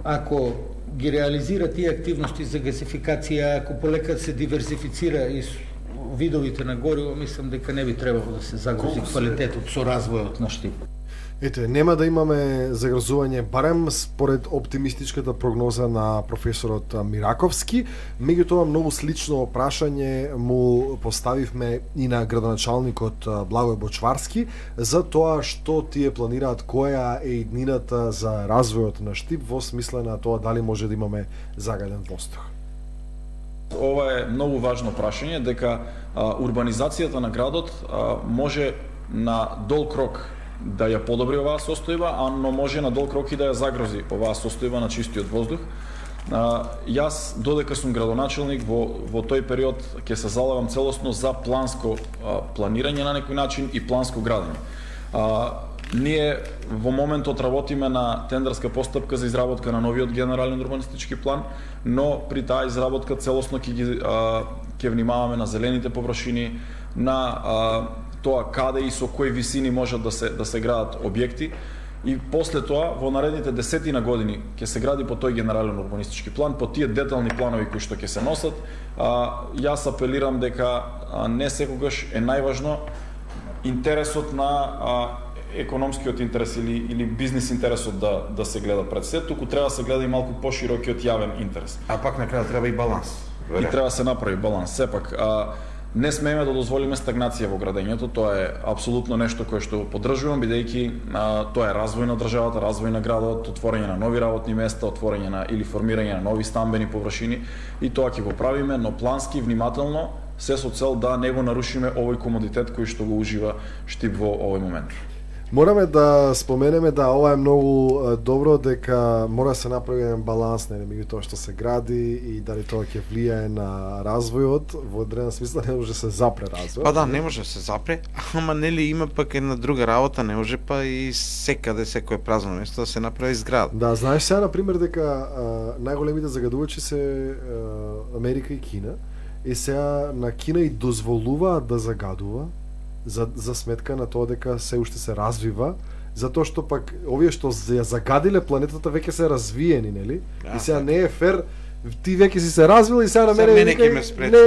ако ги реализира тие активности за газификација, ако полека се диверзифицира и видовите на гориво, мислам дека не би требало да се загрози квалитетот со развојот на Штип. Ете, нема да имаме загрозување, барем според оптимистичката прогноза на професорот Мираковски. Меѓутоа, многу слично прашање му поставивме и на градоначалникот Благој Бочварски за тоа што тие планираат, која е иднината за развојот на Штип во смисла на тоа дали може да имаме загаден воздух. Ова е многу важно прашање, дека урбанизацијата на градот може на долг рок да ја подобри оваа состојба, но може на долг рок и да ја загрози оваа состојба на чистиот воздух. Јас, додека сум градоначалник, во тој период ќе се залагам целосно за планско планирање на некој начин и планско градење. Ние во моментот работиме на тендерска постапка за изработка на новиот генерален урбанистички план, но при таа изработка целосно ќе внимаваме на зелените површини, на тоа каде и со кои висини можат да се градат објекти, и после тоа во наредните десетина години ќе се гради по тој генерален урбанистички план, по тие детални планови кои што ќе се носат. Јас апелирам дека не секогаш е најважно интересот на економскиот интерес или бизнис интересот да се гледа пред се, туку треба да се гледа и малку поширокиот јавен интерес. А пак на крај треба и баланс. И треба да се направи баланс. Сепак, не смееме да дозволиме стагнација во градењето, тоа е апсолутно нешто кое што поддржувам, бидејќи тоа е развој на државата, развој на градот, отворање на нови работни места, отворање или формирање на нови стамбени површини, и тоа ќе го правиме, но плански, внимателно, се со цел да не го нарушиме овој комодитет кој што го ужива Штип во овој момент. Мораме да споменеме да ова е многу добро, дека мора да се направи еден баланс меѓу тоа што се гради и дали тоа ќе влијае на развојот, во одреден смисла не може да се запре развојот. Па да, не може да се запре, ама нели има пак една друга работа, не може па и секаде секое празно место да се направи зграда. Да, знаеш сега на пример дека најголемите загадувачи се Америка и Кина, и сега на Кина и дозволуваат да загадува за сметка на тоа дека се уште се развива, затоа што пак овие што ја загадиле планетата веќе се развиени, нели? И сега не е фер, ти веќе си се развил и сега на мене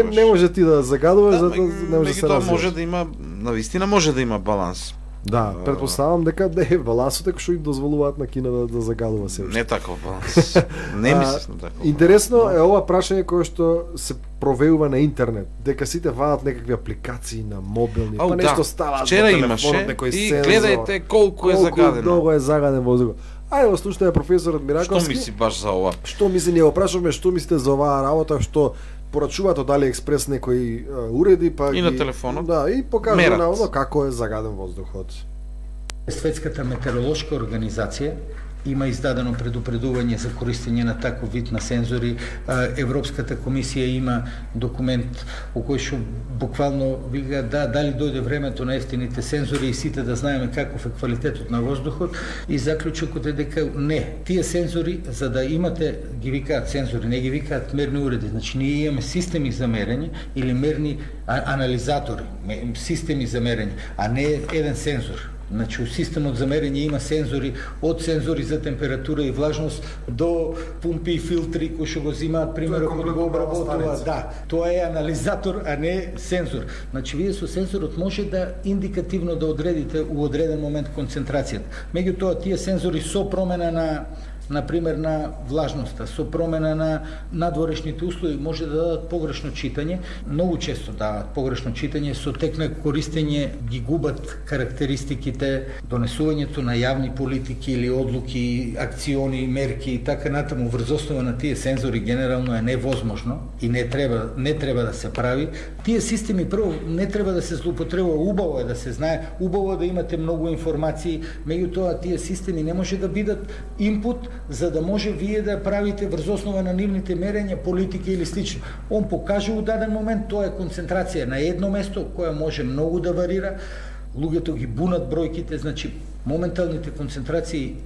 не може ти да загадуваш, затоа не може да се развиваш. Може да има, навистина може да има баланс. Да, претпоставам дека балансот е кој што им дозволуваат на Кина да загадува се уште. Не таков баланс. Не мислам така. Интересно е ова прашање кое што се провеува на интернет, дека сите вадат некакви апликации на мобилни, па нешто ставаат вчера имаше и гледајте колку е загадено. Колку многу е загаден воздух. Ајде го слушаме професорот Мираковски. Што мисли баш за ова? Што мисли, ние го прашуваме што мислите за оваа работа, што порачуваат од AliExpress некои уреди, па и на телефонот. Да, и покажува на како е загаден воздухот. Светската метеоролошка организација има издадено предупредување за користење на таков вид на сензори. Европската комисија има документ во кој што буквално вика дали дојде времето на ефтините сензори и сите да знаеме каков е квалитетот на воздухот, и заклучокот е дека не. Тие сензори, за да имате, ги викаат сензори, не ги викаат мерни уреди. Значи ние имаме системи за мерење или мерни анализатори, системи за мерење, а не еден сензор. Значи, у системот за мерење има сензори, од сензори за температура и влажност до пумпи и филтри кои што го взимаат примерот кога го обработуваат. Да, тоа е анализатор, а не сензор. Значи, вие со сензорот може да индикативно да одредите у одреден момент концентрацијата. Меѓутоа, тие сензори со промена например на влажноста, со промена на надворешните услови може да дадат погрешно читање, многу често даваат погрешно читање, со тек на користење ги губат карактеристиките, донесувањето на јавни политики или одлуки, акциони, мерки и така натаму врз основа на тие сензори генерално е невозможно и не треба да се прави. Тие системи прво не треба да се злоупотребува, убаво е да се знае, убаво е да имате многу информации, меѓутоа тие системи не може да бидат инпут за да може вие да правите врз основа на нивните мерења, политики или слично. Он покаже у даден момент, тоа е концентрација на едно место, која може многу да варира, луѓето ги бунат бројките, значи моменталните концентрации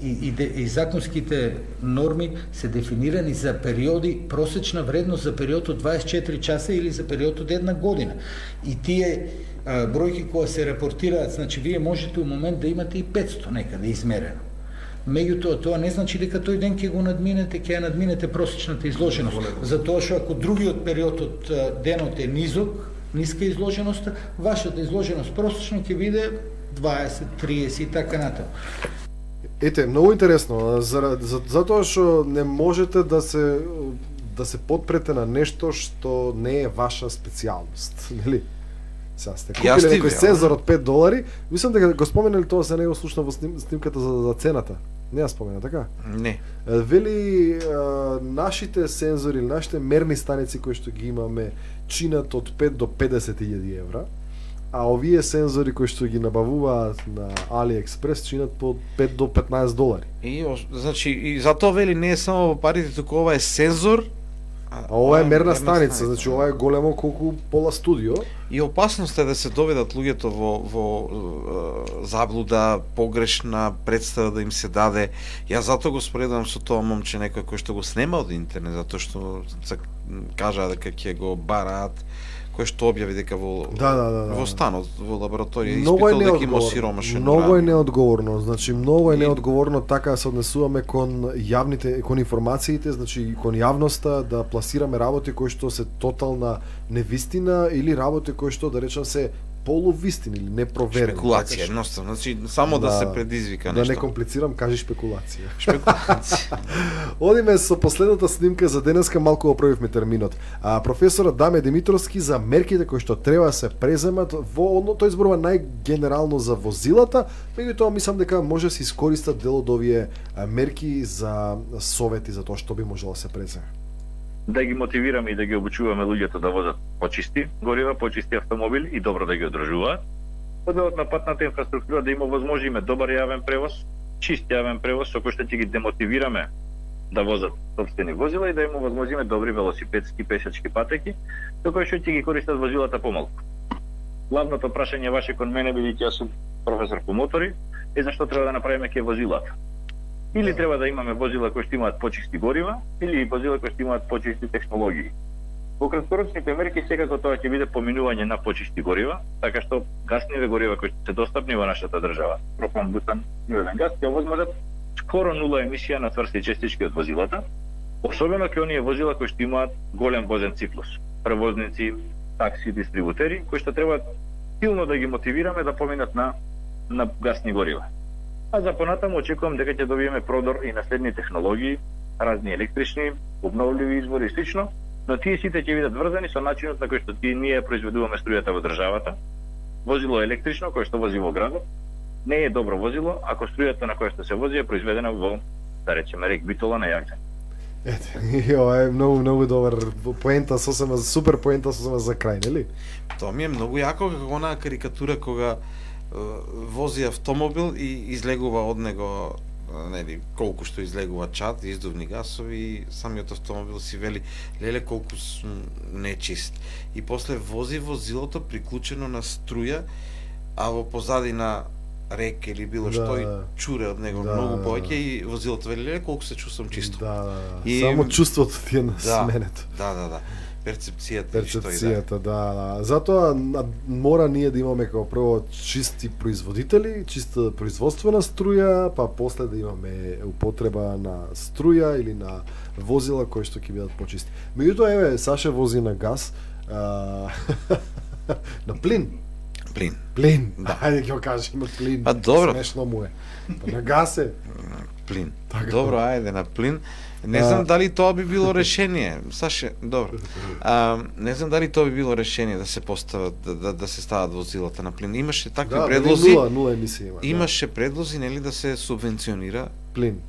и законските норми се дефинирани за периоди, просечна вредност за период од 24 часа или за период од една година. И тие бројки кои се репортираат, значи вие можете у момент да имате и 500 некаде измерено. Меѓутоа, тоа не значи дека тој ден ќе го надминете, ќе ја надминете просечната изложеност. Затоа што ако другиот период од денот е ниска изложеност, вашата изложеност просечно ќе биде 20, 30 и така натаму. Ете, многу интересно, затоа што не можете да се подпрете на нешто што не е ваша специјалност, нели? Сега сте купиле некој сензор од $5, мислам дека го споменали тоа, се не го слушна во снимката за цената. Не ја спомена, така? Не. Вели, нашите сензори, нашите мерни станици кои што ги имаме, чинат од 5 до 50.000 евра, а овие сензори кои што ги набавуваат на AliExpress чинат по $5 до $15. И значи и затоа вели не е само во парите, туку ова е сензор, а ова е мерна станица, значи ова е големо колку пола студио. И опасност е да се доведат луѓето во заблуда, погрешна представа да им се даде. Јас затоа го споредувам со тоа момче некој кој што го снема од интернет, затоа што кажа дека ќе го бараат, кој што објави дека во станот, во лабораторија испитал дека има сиромашен уран. Многу е неодговорно, значи многу е неодговорно така да се однесуваме кон јавните, кон информациите, значи кон јавноста, да пласираме работи кои што се тотална невистина или работи кои што да речам се полувистини или непроверени. Шпекулација, едноставно, значи само да се предизвика нешто. Да не комплицирам, кажи шпекулација. Шпекулација. Одиме со последната снимка за денеска, малку оправивме терминот. Професорот Даме Димитровски за мерките кои што треба да се преземат тој зборува најгенерално за возилата, меѓутоа мислам дека може да се искористат дел од овие мерки за совети за тоа што би можело да се преземе. Да ги мотивираме и да ги обучуваме луѓето да возат почисти горива, почисти автомобили и добро да ги одржуваат. Одделот на патната инфраструктура да има возможиме добар јавен превоз, чист јавен превоз со кој што ќе ги демотивираме да возат сопствени возила и да има возможиме добри велосипедски пешачки патеки, со кои што ќе ги користат возилата помалку. Главното прашање ваше кон мене, бидејќи јас сум професор по мотори, е зашто треба да направиме ке возилата. Или треба да имаме возила кои што имаат почисти горива, или возила кои што имаат почисти технологии. Во краткорочните мерки секако тоа ќе биде поминување на почисти горива, така што гасниве горива кои што се достапни во нашата држава, пропан, бутан, природен газ, ќе овозможат скоро нула емисија на тврсти честички од возилата, особено кај оние возила кои што имаат голем возен циклус. Превозници, такси, дистрибутери, кои што треба силно да ги мотивираме да поминат на гасни горива. А за понатаму очекувам дека ќе добиеме продор и на следни технологии, разни електрични, обновливи извори и слично, но тие сите ќе бидат врзани со начинот на кој што ние произведуваме струјата во државата. Возило електрично кој што вози во градот не е добро возило ако струјата на која што се вози е произведена во, да речеме, рек Битола на Јагче. Ете, ова е многу добар поента, сосема супер поента, сосема за крај, нели? Тоа ми е многу јако како онаа карикатура кога вози автомобил и излегува од него, нели, колку што излегува чад, издувни гасови, и самиот автомобил си вели леле колку сум нечист. И после вози возилото приклучено на струја, а во позадина река или било што и чуре од него многу повеќе и возилото вели леле колку се чувствам чисто. И само чувството ти е сменето. Да. Перцепцијата, да. Затоа мора ние да имаме како прво чисти производители, чиста производствена струја, па после да имаме употреба на струја или на возила кои што ќе бидат почисти. Меѓутоа, еве, Саше вози на газ, на плин. Плин. Да. Ајде ќе го кажеме плин. Па добро. Смешно му е. Па на газ е. Плин. Добро, ајде на плин. Не знам дали тоа би било решение. Саше, добро. Не знам дали тоа би било решение да се постават да се стават возилата на плин. Имаше такви предлози. Нула емисија има. Имаше предлози, нели, да се субвенционира плин.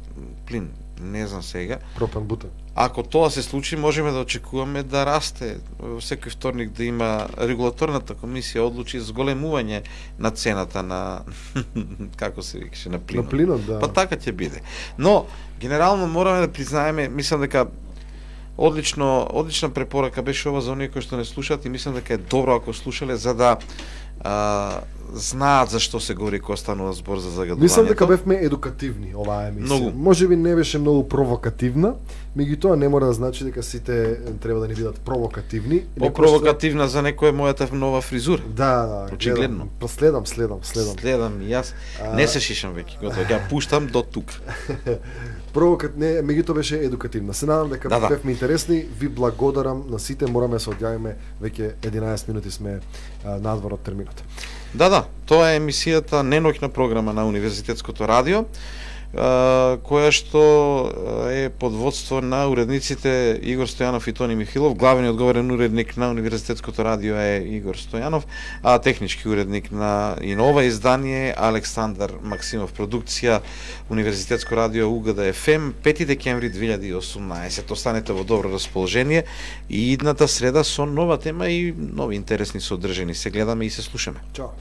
Не знам сега. Пропан, бутан. Ако тоа се случи, можеме да очекуваме да расте. Секој вторник да има регулаторната комисија одлучи зголемување на цената на како се викаше, на плинот. На плинот, да. Па така ќе биде. Но генерално мораме да признаеме, мислам дека одлична препорака беше ова за оние кои што не слушаат и мислам дека е добро ако слушале за да знаат зашто се говори кога станува збор за загадувањето. Мислам дека бевме едукативни оваа емисија. Можеби не беше многу провокативна, меѓутоа не мора да значи дека сите треба да не бидат провокативни. Провокативна за некој е мојата нова фризура. Да, очигледно. Следам. Следам и јас не се шишам веќе, готово, ја пуштам до тук. Не, меѓутоа беше едукативна. Се надам дека бевме интересни. Ви благодарам на сите, мораме да се одјавиме, веќе 11 минути сме надвор од терминот. Да, тоа е емисијата Неноќна програма на Универзитетското радио, која што е под водство на уредниците Игор Стојанов и Тони Михилов. Главниот говорен уредник на Универзитетското радио е Игор Стојанов, а технички уредник на и на ова издание Александар Максимов. Продукција Универзитетско радио УГД ФМ, 5 декември 2018. Останете во добро расположение и идната среда со нова тема и нови интересни содржини. Се гледаме и се слушаме. Чао.